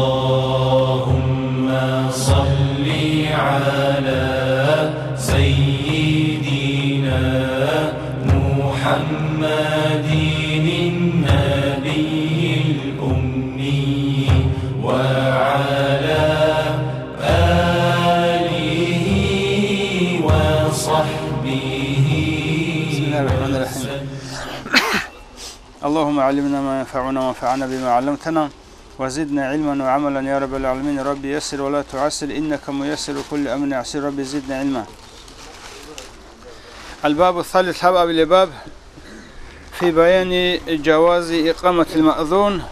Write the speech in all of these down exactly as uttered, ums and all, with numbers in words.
اللهم صل على سيدنا محمد النبي الأمي وعلى آله وصحبه بسم الله الرحمن الرحيم. وسلم. اللهم علمنا ما ينفعنا وانفعنا بما علمتنا وزدنا علما وعملا يا رب العالمين. رب يسر ولا تعسر إنك ميسر كل أمر عسير. رب زدنا علما. الباب الثالث, гьаб абилеб баб, في بيان جواز إقامة المأذون,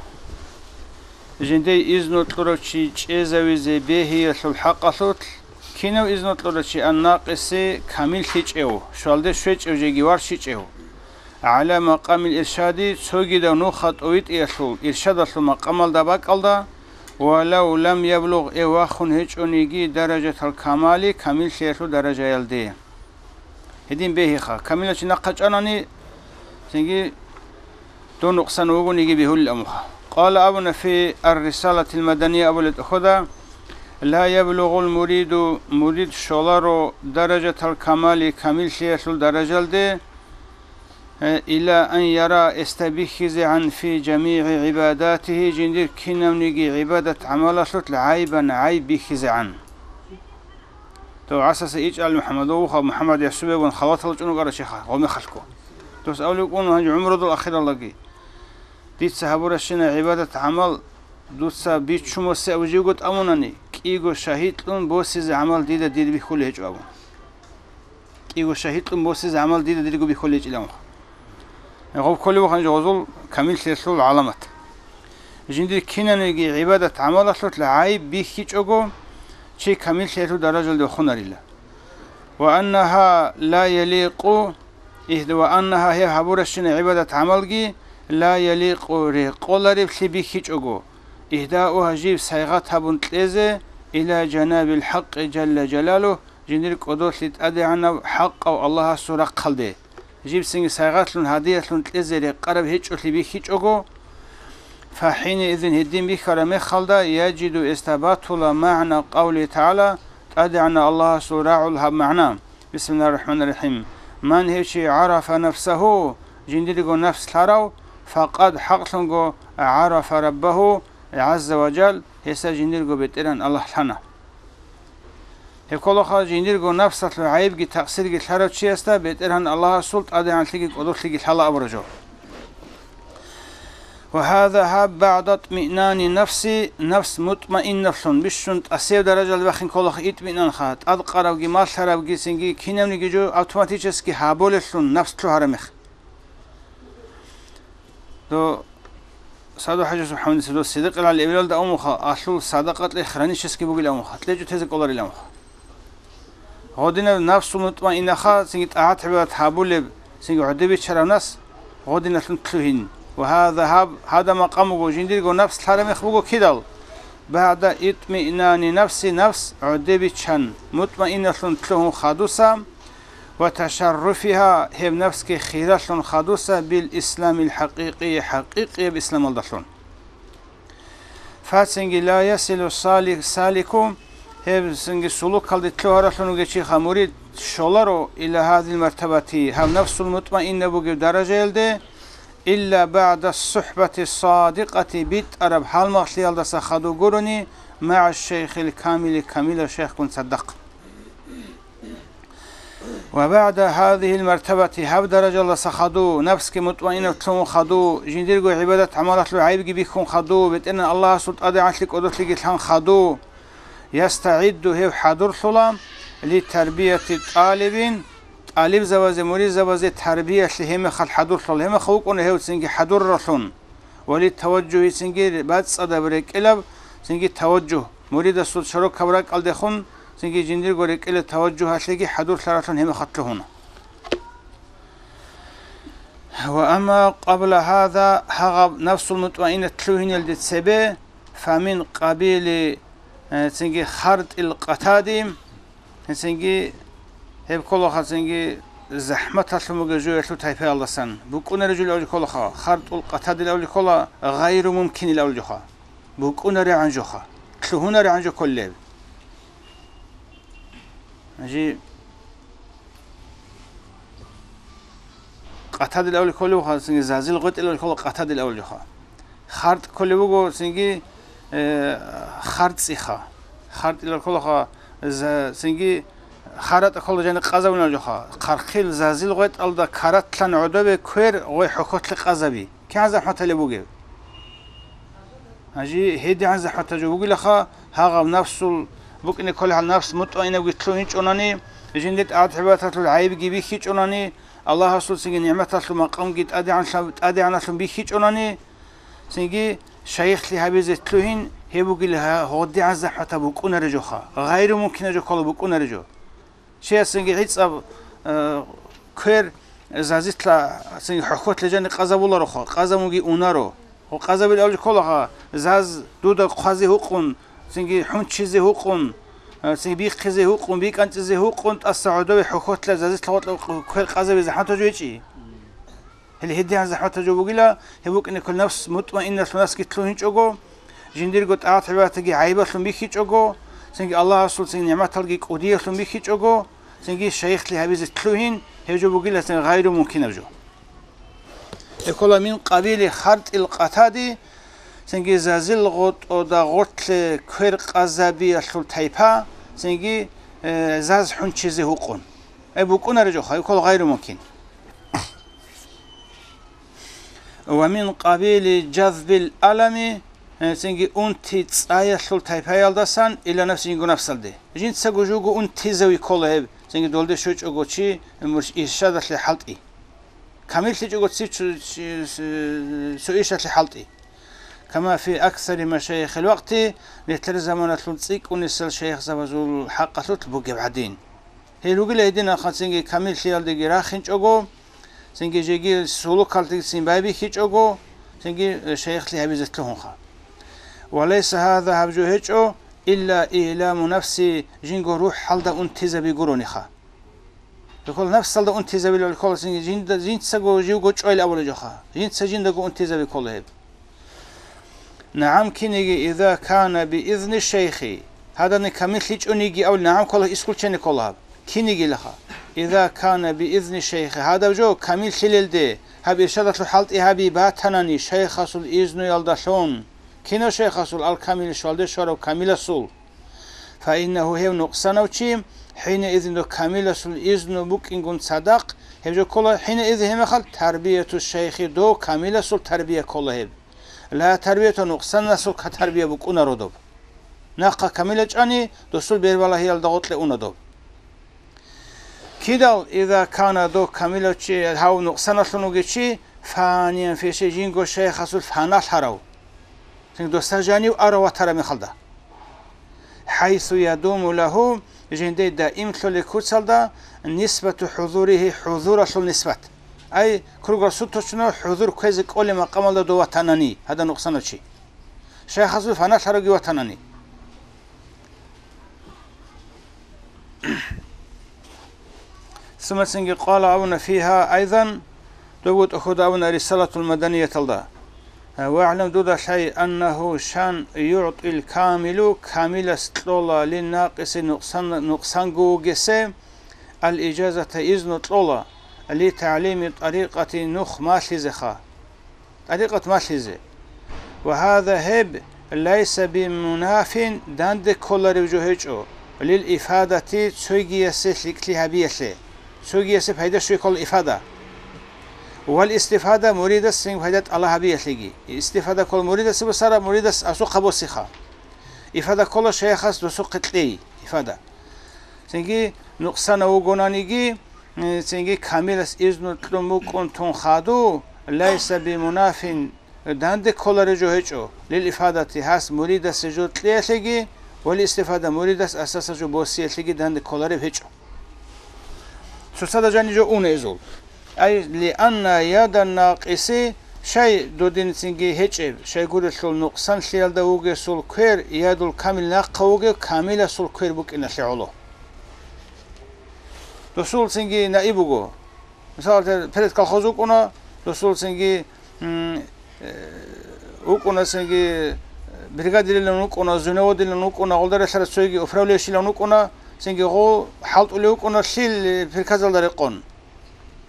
жиндие изну кьурав чи чӀезавизе бегьиялъул хӀакъалъулъ, кинав изну кьурав чи, الناقص, камиллъичӀев, щвалде щвечӀев жеги варщичӀев, على مقام الإرشاد, цогидав нуха тӀовитӀиялъул иршадалъул макъамалда бакӀалда, ولو لم يبلغ, гьев вахун гьечӀониги, درجة الكمال, камиллъиялъул даражаялде. Гьедин бегьиха, камилав чи нахъа чӀанани, цинги дов нукъсан вугониги бегьулел амуха. قال, абуна, في الرسالة المدنية абулеб тӀохьода: لا يبلغ المريد, мурид щоларо, درجة الكمال, камиллъиялъул даражалде, إلى أن يرى, гьесда бихьизегӀан, في جميع عباداته, жиндир кинавниги гӀибадат-гӀамалалъулъ عيبا, гӀайиб бихьизегӀан. Дов гӀасаса ичӀал МухӀаммадов вуха, МухӀаммад Ясубевгун халатал чӀун вукӀарав чиха, гъомехалъго. Дос абулеб букӀун гьанже гӀумрудул ахиралдаги: дица гьабуращина гӀибадат-гӀамал, дуца биччумасе абу живго тӀамунани, кӀиго шагьидлъун босизе гӀамал дида дир бихьулей гьечӀо абун. КӀиго шагьидлъун босизе гӀамал дида дирго бихьулей гьечӀилан. Гъоб кколев вуха гъозул камиллъиялъул гӀаламат. Жиндир кинавниги гӀибадат-гӀамалалъулъ гӀайиб бихьичӀого, чи камиллъиялъул даражалде вахунарила. وأنها لا يليق, игьда, وأنها, гьеб гьабуращина гӀибадат-гӀамалги, لا يليق, рекъолареблъи бихьичӀого, إهداؤها, жиб сайгъат гьабун кьезе, إلى جناب الحق جل جلاله, жиндир кӀодолъи ТӀадегӀанав хӀакъав Аллагьасул рахъалде, жибцинги сайгъатлъун гьадиялъун кьезе рекъараб гьечӀолъи бихьичӀого, فحينئذ, гьедин бихьараб мехалда, يجد, гьесда батула, معنى قوله تعالى, ТӀадегӀанав Аллагьасул рагӀул гьаб магӀна: بسم الله الرحمن الرحيم. من, гьев чи, عرف نفسه, жиндирго нафс лъарав, فقد, хӀакълъунго, عرف ربه عز وجل, гьесда жиндирго БетӀергьан Аллагь лъана. Гьеб кколаха жиндирго нафсалъул гӀайибги такъсирги лъарав чиясда БетӀергьан Аллагьасул ТӀадегӀанлъиги кӀодолъиги лъала абураб жо. وهذا, гьаб, بعد اطمئنان النفس, нафс мутмаиннаблъун, бищун тӀасев даражалде бахин кколаха итминанха, тӀадкъаравги малъарабги цинги кинавниги жо автоматически гьаболеллъун нафс лъугьараб мех. Дов Садов ХӀажи СубхӀамадица дос цидикъилал эвелалда амуха, алъул садакъа кьей хронически бугил амуха, кьечӀо тезе кӀоларил амуха. Гъодинаб нафсул мутмаинаха, цинги тӀагӀат-гӀибадат гьабулеб, цинги гӀодеб биччараб нас, гъодиналъун лъугьин. Ва гьаза гьаб, гьада макъам буго, жиндирго нафс лъараб мех буго кидал? БагӀда итмиънани нафси, нафс гӀодеб биччан, мутмаиналъун лъугьун хадуса, ва ташарруфиха, гьеб нафсги хиралъун хадуса бил исламил хӀакъикъи, хӀакъикъияб исламалдалъун. Фацинги ла ясилу сали-, салику, гьеб цинги сулукалде лъугьаралъун вугев чиха мурид щоларо ила гьазил мартабати, гьаб нафсул мутмаинна бугеб даражаялде, илла багӀда сухӀбати садикъати, битӀараб гьалмагълъиялдаса хадув гурони, магӀа шейхил камили, камилав шейхгун цадахъ. Ва багӀда гьазигьил мартабати, гьаб даражалдаса хадув, нафсги мутмаинаб лъугьун хадув, жиндирго гӀибадат-гӀамалалъул гӀайибги бихьун хадув, БетӀергьан Аллагьасул ТӀадегӀанлъи кӀодолъиги лъан хадув, ястагӀидду, гьев хӀадурлъула, литарбияти тӀалибин, тӀалибзабазе, муридзабазе тарбиялъе гьеб мехалъ хӀадурлъула, гьеб мехалъ вукӀуна гьев цинги хӀадураллъун. Ва литаважжугьи, цинги бацӀцӀадаб рекӀелаб, цинги таважжугь, муридасул широкаб ракӀалдехун, цинги жиндирго рекӀелаб таважжугьалъеги хӀадурлъаралъун гьеб мехалъ лъугьуна. Ва амма къабла гьаза, гьагъаб нафсул мутмаинат лъугьиналде цебе, фамин къабили, э, цинги хартӀил къатади, гьесинги гьеб кколаха, цинги захӀматалъун бугеб жоялъул тайпаялдасан. БукӀунареб жо абулеб кколаха, хартӀул къатадил абулеб ккола, гъайру мумкинил абулеб жоха. букӀунарегӀан жоха, лъугьунарегӀан жо кколеб. Жи къатадил авли кколевха, цинги зазил гъветӀил авли ккола къатадил авли жоха. ХартӀ кколев вуго, цинги, э, харцӀиха. ХартӀилал кколаха, за-, цинги харатӀа ккола жани къазавунал жоха. Хъархъил зазил гъветӀалда каратлъан гӀодове квер гъой хӀохьолъе къазаби. КигӀан захӀматалеб бугеб? Гьанже гьедигӀан захӀматаб жо бугилаха, гьагъав нафсул букӀине кколеб гьал нафс мутмаинабги лъугьинчӀонани, жинде тӀагӀат-гӀибадаталъул гӀайибги бихьичӀонани, Аллагьасул цинги нигӀматалъул макъамги тӀадегӀанлъа-, тӀадегӀаналъун бихьичӀонани, цинги шайихлъи гьабизе лъугьин, гьеб бугила гьа-, гьодигӀан захӀматаб букӀунаре жоха, гъайру мумкина жо ккола букӀунаре жо. Чиясенги гӀицӀаб, э, квер зазилъа цинги хӀохьолъе жани къазабулароха, къазамуги унаро. Гьо, къазабил авлу кколаха, заз дуда хъвазе гьукъун, цинги хӀунчизе гьукъун, э, цинги бихъизе гьукъун, бикӀанцӀизе гьукъун, тӀаса гӀодове хӀохьолъа зазилъа гъоркьа квер къазабизе хӀантӀа жо гьечӀи. Гьеле гьедигӀан захӀматаб жо бугила, гьеб букӀине ккола нафс мутмаинналъун наскилъун гьинчӀого, жиндирго тӀагӀат-гӀибадатги гӀайибалъун бихьичӀого, цинги Аллагьасул цинги нигӀматалги кӀудиялъун бихьичӀого, цинги шайихлъи гьабизе лъугьин, гьеб жо бугила цинги гъайру мумкинаб жо. Гьеб ккола мин къабили хартӀил къатади, цинги зазил гъотӀода гъортлъе квер къазабиялъул тайпа, цинги, э, заз хӀунчизе гьукъун. Гьеб букӀунаре жоха, гьеб ккола гъайру мумкин. Ва мин къабили жазбил алами, э, цинги унти цӀаялъул тайпаялдасан ила нафси жинго нафсалде. Жинцаго жуго унтизави ккола гьеб, цинги долде щочӀого чи мурш-, иршадалъе хӀалтӀи. КамиллъичӀого ци-, цу-, чи-, с-, цо иршадлъи хӀалтӀи. Кама фи аксари машайихил вакъти, нилъер заманалъул цӀикӀкӀунисел шайихзабазул хӀакъалъулъ бугеб гӀадин. Гьел ругила гьедин ахъа цинги камиллъиялдеги рахинчӀого, цинги жеги сулукалдеги цин байбихьичӀого, цинги, э, шайихлъи гьабизе лъугьунха. Ва лайса гьаза гьаб жо гьечӀо, илла иламу нафси, жинго рухӀалда унтизаби гурониха. Рекъол нафсалда унтизабилал ккола цинги жинда, жинцаго живго чӀвайил абулеб жоха. Жинца жиндаго унтизаби ккола гьеб. НагӀам киниги, иза кана биизни шейхи. Гьадани камиллъичӀониги абули, нагӀам ккола, исключение ккола гьаб. Кинигилаха. Иза кана биизни шейхи. Гьадаб жо камиллъилелде, гьаб иршадалъул хӀалтӀи гьаби батанани шайхасул изнуялдалъун. Кинав шайхасул? Ал-камил, щвалде щварав камиласул. Фаиннагьу, гьев нукъсанав чи, хӀинаизин дов камиласул изну букӀингун цадахъ, гьеб жо ккола, хӀинаиз гьеб мехалъ тарбияту шайхи, дов камиласул тарбия ккола гьеб. Ла тарбияту, нукъсанасул ка-, тарбия букӀунаро доб. Нахъа камила чӀани, досул бербалагьиялда гъоркье уна доб. Кидал, иза кана, дов камилав чи гьав нукъсаналъун вугев чи, фаниян фи шей, жинго шайхасул фаналъарав. Цин досда жанив арав ватараб мехалда. ХӀайсу ядуму лагьу, жинде даимлъулеб куцалда, нисбату хӀузурихи, хӀузуралъул нисбат. Ай, круглосуточно хӀузур кквезе кӀолеб макъамалда дов ватанани, гьадаб нукъсанав чи. Шайхасул фаналъаравги ватанани. Сумма цинги къала абуна фигьа айзан, дов бутӀахъуда абуна Рисалатул Маданияталда. ВагӀлам, дуда лъай, аннагьу, шан, югӀтӀил камилу, камилас кьола, линнакъиси, нукъсан-, нукъсанго вугесе, ал-ижазата, изну кьола, литагӀлими тӀарикъати, нух малъизеха. ТӀарикъат малъизе. Ва гьаза, гьеб, лайса бимунафин, данде кколарев жо гьечӀо, лил ифадати, цогиясе лъикӀлъи гьабиялъе, цогиясе пайда щвей ккола ифада. Вал истифада, муридас цин пайда тӀалаб гьабиялъеги. Истифада ккола муридасе босара, муридас асухъа босиха. Ифада ккола шайхас досухъе кьей, ифада. Цинги нукъсанав вугонаниги, э, цинги камилас изну кьун букӀун тун хаду, лайса бимунафин, данде кколарев жо гьечӀо, лил ифадати, гьас муридасе жо кьеялъеги, вал истифада, муридас асаса жо босиялъеги данде кколарев гьечӀо. Цоцазда жани жо уна изул. Ай, лианна ядан накъиси, шай додинцинги гьечӀеб, шайгурелъул нукъсанлъиялда вугесул квер, ядул камил нахъа вугев камиласул квер букӀиналъе гӀоло. Досулцинги наиб буго. Мисал, перед колхоз вукӀуна, досулцинги, м, э, вукӀунасинги, э, бригадирилан вукӀуна, звеноводилан вукӀуна, гъолда релълъарав цоги управляющийилан вукӀуна, цинги гъо хӀалтӀулев вукӀуна лъил приказалда рекъон.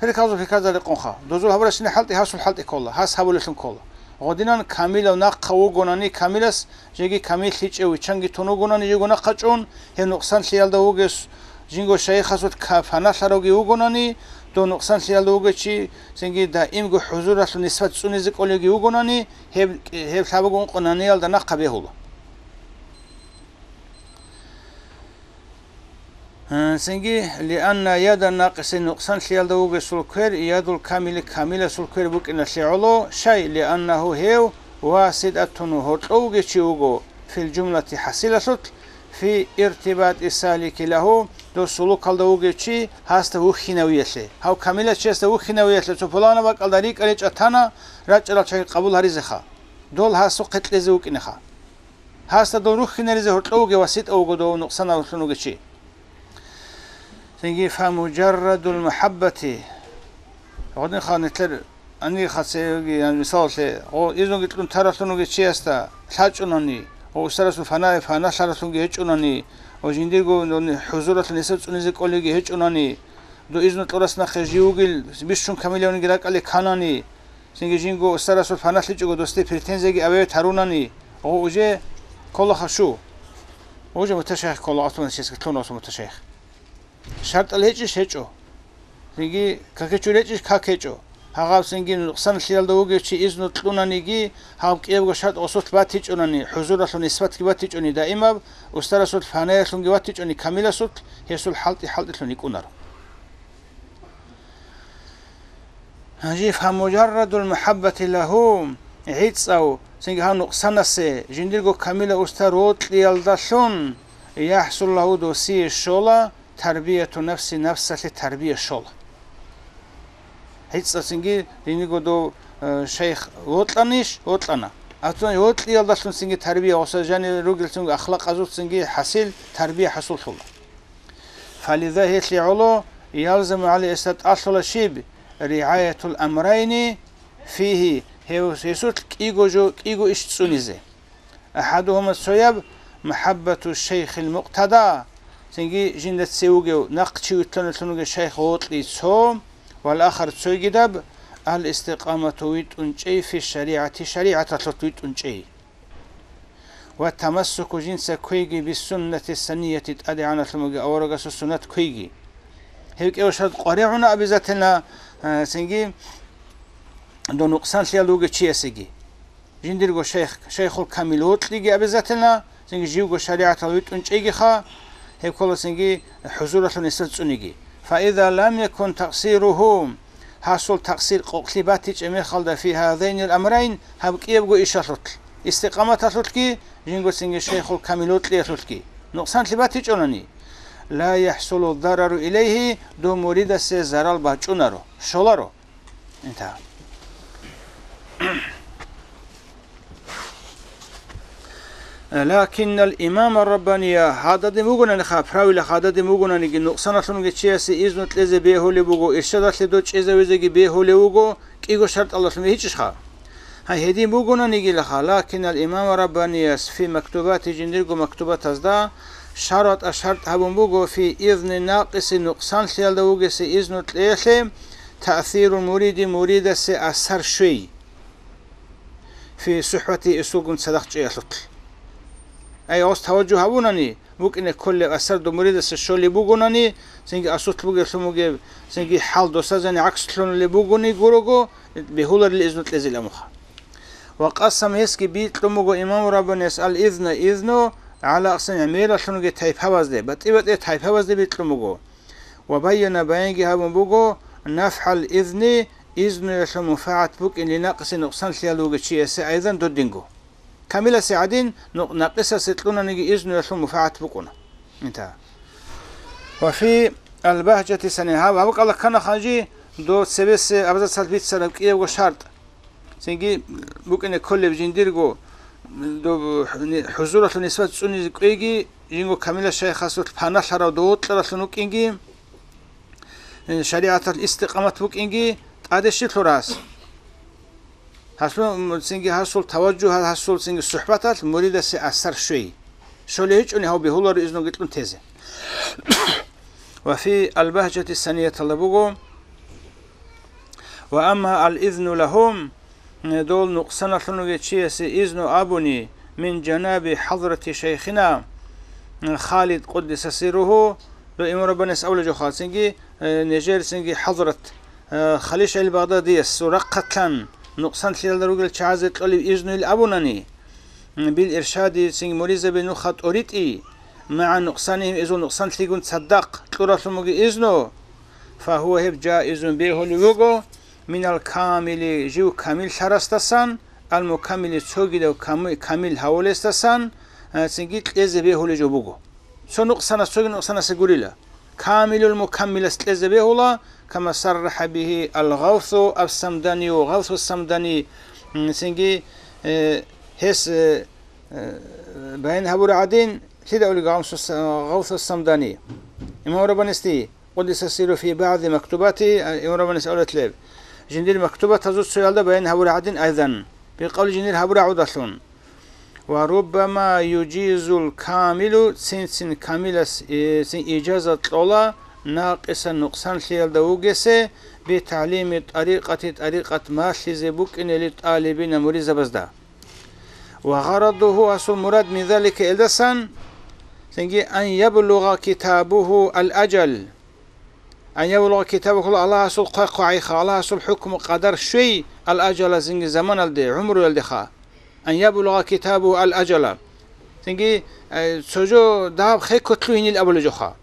Приказу приказал рекъонха. Дозул гьабурасине хӀалтӀи гьасул хӀалтӀи ккола, гьас гьабулелъун ккола. Гъодинан камилав нахъа вугонани, камилас жеги камиллъичӀев виччанги тун вугонани жего нахъа чӀун, гьев нукъсанлъиялда вугес, жинго шайихасул ка-, фаналъаравги вугонани, дов нукъсанлъиялда вугев чи, цинги даимго хӀузуралъул нисбат цӀунизе кӀолевги вугонани, гьеб, гьеб лъабаго ункъонаниялда нахъа бегьула. Гьанцинги, лианна яда накъиси нукъсанлъиялда вугесул квер, ядул камили камиласул квер букӀиналъе гӀоло, шай, лианнагьу гьев васитӀатун гьоркьов вугев чи вуго, фил жумлати хӀасилалъулъ, фи иртибатӀи салики лагьу, дос сулукалда вугев чи гьасда вухьинавиялъе. Гьав камилас чиясда вухьинавиялъе цо пуланаб бакӀалда рикӀа-ричӀа тана, рачӀарал чагӀи къабул гьаризеха. Дол гьасухъе кьезе вукӀинеха. Гьасда дол рухьинаризе гьоркьов вугев васитӀа вуго дов нукъсанавлъун вугев чи. Цинги фамужаррадул мухӀаббати. Гъодинха нилъер гьанирха цеги, яни, мисалалъе, гъо, изунги кьун таралъун вугев чиясда лъачӀунани, гъо, устарасул фана-, фаналъаралъунги гьечӀунани, гъо, жиндирго нуни хӀузуралъун гьесда цӀунизе кӀолевги гьечӀунани, дов изну кьурас нахъе жив вугил бищун камилавниги ракӀалде кканани, Цинги жинго устарасул фаналъичӀого досде претензияги аве тарунани, гъо уже кколаха щу. Уже муташайх ккола, асулан чесги лъун асул муташайх. ШартӀал гьечӀищ гьечӀо. Цинги какечу речӀищ как гьечӀо. Гьагъав цинги нукъсанлъиялда вугев чи изну кьунаниги, гьав кӀиябго шартӀ гъосулъ батичӀунани, хӀузуралъул нисбатги батичӀуни даимаб, устарасул фанаялъунги ватичӀуни камиласулъ, гьесул хӀалтӀи-хӀалтӀилъун йикӀунаро. Гьанже фамужаррадул мухӀаббати лагьу, гӀицӀав, цинги гьав нукъсанасе, жиндирго камила уста рокьиялдалъун, яхӀсул лагьу досие щола, тарбияту нафси, нафсалъе тарбия щола. ГӀицӀав цинги жиндирго дов, э, шайх вокьанищ? Вокьана. Ацун вокьиялдалъун цинги тарбия, гъоса жанир ругел цинги ахлакъазул цинги хӀасил тарбия хӀасуллъула. Фализа гьелъие гӀоло, ялзаму гӀалайгьи, гьесда тӀалъула щиб, ригӀаятул амрайни фигьи, гьев гьесулъ кӀиго жо, кӀиго иш цӀунизе. АхӀадугьума, цояб, мухӀаббату шайхил мукътада, цинги жинда цевугев нахъчи вилълъуналъун вугев шайх вокьи цо, вал ахар, цойгидаб, ал истикъамату, витӀун чӀей, фи шаригӀати, шаригӀаталъулъ витӀун чӀей. Ва тамассуку, жинца кквейги, биссуннати санияти, тӀадегӀаналъун вугев аварагасул суннат кквейги. Гьев кӀевашал къваригӀуна обязательно, а, цинги дов нукъсанлъиялда вугев чиясеги. Жиндирго шайх, шайхул камил вокьиги обязательно, цинги живго шаригӀатал витӀун чӀейгиха, гьеб ккола цинги хӀузуралъун гьесда цӀуниги. Фаиза лам якун такъсиругьу, гьасул такъсир къокълъи батичӀеб мехалда фи гьазайнил амрайн, гьаб кӀиябго ишалъулъ, истикъаматалъулъги, жинго цинги шайхул камил вокьиялъулъги, нукъсанлъи батичӀунани, ла яхӀсулу дарару илайгьи, дов муридасе зарал бачӀунаро, щоларо. Инта. Лакиннал имама раббания, гьададин вугонаниха, правила гьададин вугонаниги, нукъсаналъунги чиясе изну кьезе бегьулеб буго, иршадалъе дов чӀезавизеги бегьулев вуго, кӀиго шартӀалдалъун бегьичӀищха? Гьай, гьедин бугонанигилаха, лакиннал имама раббанияс фи мактубати, жиндирго мактубатазда, шаратӀа, шартӀ гьабун буго, фи изни накъиси, нукъсанлъиялда вугесе изну кьеялъе, таъсирул муриди, муридасе асар щвей. Фи сухӀбати, эсулгун цадахъ чӀеялъулъ. Ай, гъос таважжугь гьабунани, букӀине кколеб асар дов муридасе щолеб бугонани, цинги асулъ бугеблъун бугеб, цинги хӀал досазани гӀакслъуналеб бугони гурого, бегьуларила изну кьезилан муха. Ва къасам, гьесги бикьун буго имаму раббанияс ал-изна, изну, гӀала акъсам, гӀемералъунги тайпабазде, батӀи-батӀи тайпабазде бикьун буго. Ва байяна, баянги гьабун буго, нафгӀал изни, изнуялъул мунфагӀат букӀин линакъиси, нукъсанлъиялда вугев чиясе айзан додинго. Камиласе гӀадин, нукъ-, накъисасе кьунаниги изнуялъул мунфагӀат букӀуна. Инта. Ва фи албагьжати сани, гьаб, гьаб кӀала ккана ханжи, дов цебесе абзацал бицараб кӀиябго шартӀ. Цинги букӀине кколеб жиндирго, доб-, хӀузуралъул нисбат цӀунизе кӀвейги, жинго камила шайхасулъ паналъарав дов вокьаралъун вукӀинги, э, шаригӀаталъ истикъамат букӀинги, тӀаде щиб лъурас? Гьасул, цинги гьасул таважжугь, гьасул цинги сухӀбаталъ муридасе асар щвей. Щолей гьечӀони гьав бегьуларо изнуги кьун тезе. Ва фи албагьжати санияталда буго: «Ва амма ал-изну лагьум», дол нукъсаналъун вугев чиясе изну абуни, «мин жанаби хӀазрати шайхина Халид къуддиса сирругьу», дол имам Раббанияс абулеб жо хал цинги, э, нижер цинги хӀазрат, э, Халид шайх Багъдадиясул рахъалъан нукъсанлъиялда ругел чагӀазе кьолеб изнуйил абунани, м, бил иршади цинги муридзаби нуха тӀоритӀи, магӀа нукъсанихим изул нукъсанлъигун цадахъ кьуралъун буго изну, фагьува гьеб жаизун бегьулев вуго, минал камили жив камиллъарасдасан, ал мукаммили цогидав ками-, камил гьавулесдасан, а, цинги кьезе бегьулев жо буго. Цо нукъсанас цоги нукъсанасе гурила. Камилул мукаммилас кьезе бегьула, кама саррахӀа бигьи ал-Гъавсу ас-Самданию, Гъавсу ас-Самдани, м, цинги, э, гьес, э, э, баян гьабура гӀадин, лъида улига Гъавсу ас-, Гъавсу ас-Самдани? Имам Раббанисди, къуддиса сирругьу, фи багӀди мактубати, а, Имам Раббанис авлет леб. Жиндир мактубатазул цоялда баян гьабура гӀадин айзан, бикъавли жиндир гьабура гӀудалъун. Ва руббама южизул камилу, цин-цин камилас, э, цин ижаза кьола, накъисан нукъсанлъиялда вугесе, битагӀлими тӀарикъати, тӀарикъат малъизе букӀинели тӀалибина муридзабазда. Ва гъарадугьу, асул мурад мин залика, элдасан, цинги, ан яблугъа китабугьу ал-ажал. Ан яблугъа китабухъула Аллагьасул хъвай-хъвагӀиха, Аллагьасул хӀукму къадар щвей ал-ажала, цинги заманалде, гӀумруялдеха. Ан яблугъа китабу ал-ажала. Цинги, э, цо жо дагьаб хекко лъугьинил абулеб жоха.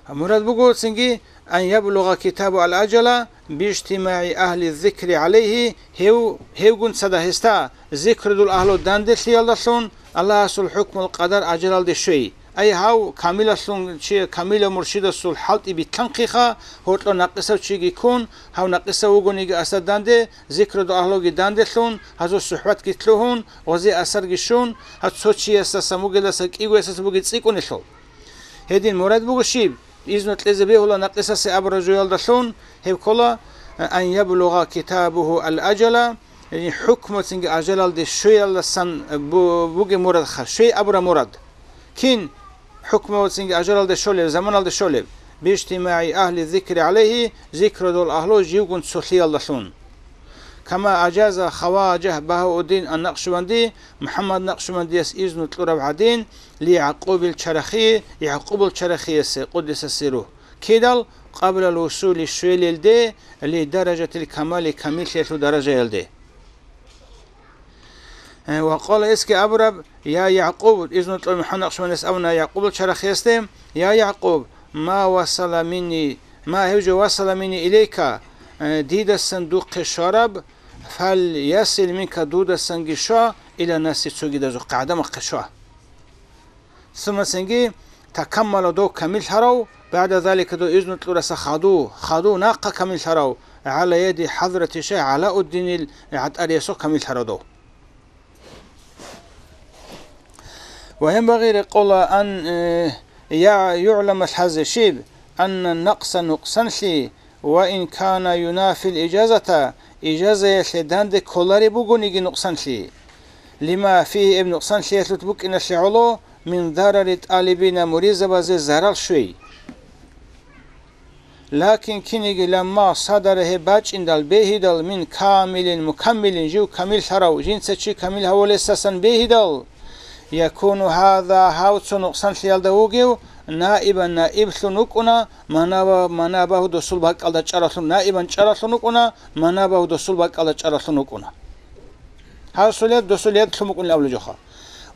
Мурад буго цинги, ан яблугъа китабу ал-ажала, бижтимагӀи агьли зикри гӀалайгьи, гьев, гьевгун цадахъ гьесда, зикрудул агьлу данделъиялдалъун, Аллагьасул хӀукмул къадар ажалалде щвей. Ай гьав камилалъун чи, камилав муршидасул хӀалтӀи битлъанхъиха, гьоркьо накъисав чиги ккун, гьав накъисав вугониги асда данде, зикрудул агьлуги данделъун, гьазул сухӀбатги лъугьун, гъозе асарги щун, гьав цо чиясдасан вугелдаса кӀигоясдаса бугеб цӀикӀкӀунелъул. Гьедин мурад буго щиб? Изну кьезе бегьула накъисасе абураб жоялдалъун, гьеб ккола, ан яблугъа китабугьу ал-ажала, яни хӀукму цинги ажалалде щвеялдасан бу-, бугеб мурадха, щвей абураб мурад. Кин хӀукму цинги ажалалде щолеб, заманалде щолеб? БижтимагӀи агьли зикри гӀалайгьи, зикрудул агьлу живгун цолъиялдалъун. Кама ажаза Хаважа Багьауддин ан-Накъшбанди, МухӀаммад Накъшбандияс изну кьураб гӀадин, ли ЯгӀкъубил Чарахи, ЯгӀкъубул Чарахиясе, къуддиса сирругьу, кидал, къаблал вусули, щвелелде, ли даражатил камали, камиллъиялъул даражаялде. Э, ва къала, эсги абураб, я ЯгӀкъуб, изну кьураб МухӀаммад Накъшбандияс абуна ЯгӀкъубул Чарахиясде, я ЯгӀкъуб, ма васала минни, ма гьев жо васала минни илейка, э, дидасан духъе щвараб, фал ясил минка, дудасанги щва, ила наси, цогидазухъе, гӀадамахъе щва. Сумма цинги, такаммала, дов камиллъарав, багӀда залика, дов изну кьураса хаду, хаду нахъа камиллъарав, гӀала яди хӀазрати шайх ГӀалауддинил гӀатӀариясухъ камиллъарав дов. Ва гьеб багъи рекъола ан, э, я-, югӀлама, лъазе щиб, анна накъса, нукъсанлъи, ва ин кана юнафил ижазата, ижазаялъе данде кколареб бугониги нукъсанлъи. Лима фигьи, эб нукъсанлъиялъулъ букӀиналъе гӀоло, мин дарари тӀалибина, муридзабазе зарал щвей. Лакин киниги, ламма садара, гьеб бачӀиндал, бегьидал, мин камилин мукаммилин, жив камиллъарав, жинца чи камил гьавулесасан бегьидал, якуну гьаза, гьав цо нукъсанлъиялда вугев, наибан, наиблъун вукӀуна, манаба-, манабагьу, досул бакӀалда чӀаралъун, наибан чӀаралъун вукӀуна, манабагьу, досул бакӀалда чӀаралъун вукӀуна. Гьасул яд досул яд лъун букӀунин абулеб жоха.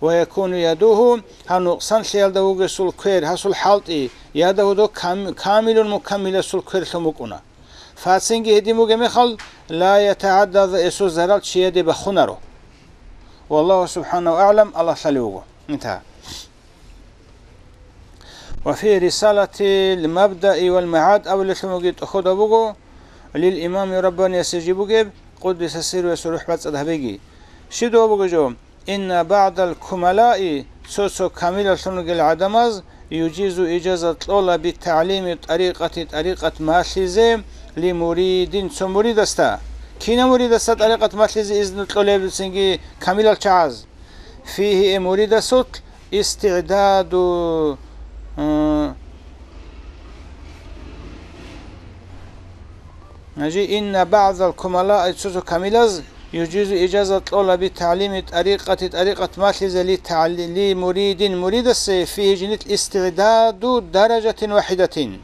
Ва якуну ядугьу, гьав нукъсанлъиялда вугесул квер, гьасул хӀалтӀи, ядагьу, дов кам-, камилун мукаммиласул квер лъун букӀуна. Фацинги гьедин бугеб мехалъ, ла ятагӀадда, гьесул зарал чияде бахунаро. Валлагьу субхӀанагьу агӀлам, Аллагь лъалев вуго. Интагьа. Ва фи рисалатил мабдаи вал магӀад абулелъун бугеб тӀохьода буго, лил имами раббаниясе жиб бугеб, къуддиса сирругьу, гьесул рухӀ бацӀцӀад гьабеги. Щиб дова буго жо? Инна багӀдал кумалаи, цо-цо камилалъун ругел гӀадамаз, южизу, ижаза кьола, битагӀлими тӀарикъати, тӀарикъат малъизе, ли муридин, цо муридасда. Кинав муридасда тӀарикъат малъизе изну кьолеб цинги камилал чагӀаз? Фигьи, э, муридасулъ истигӀдаду, э, Гьанже, инна багӀзал кумала, ай цо-цо камилаз, южизу, ижаза кьола, битагӀлими тӀарикъати, тӀарикъат малъизе, ли тагӀли-, ли муридин, муридасе, фигьи, жинил, истигӀдаду даражатин вахӀидатин.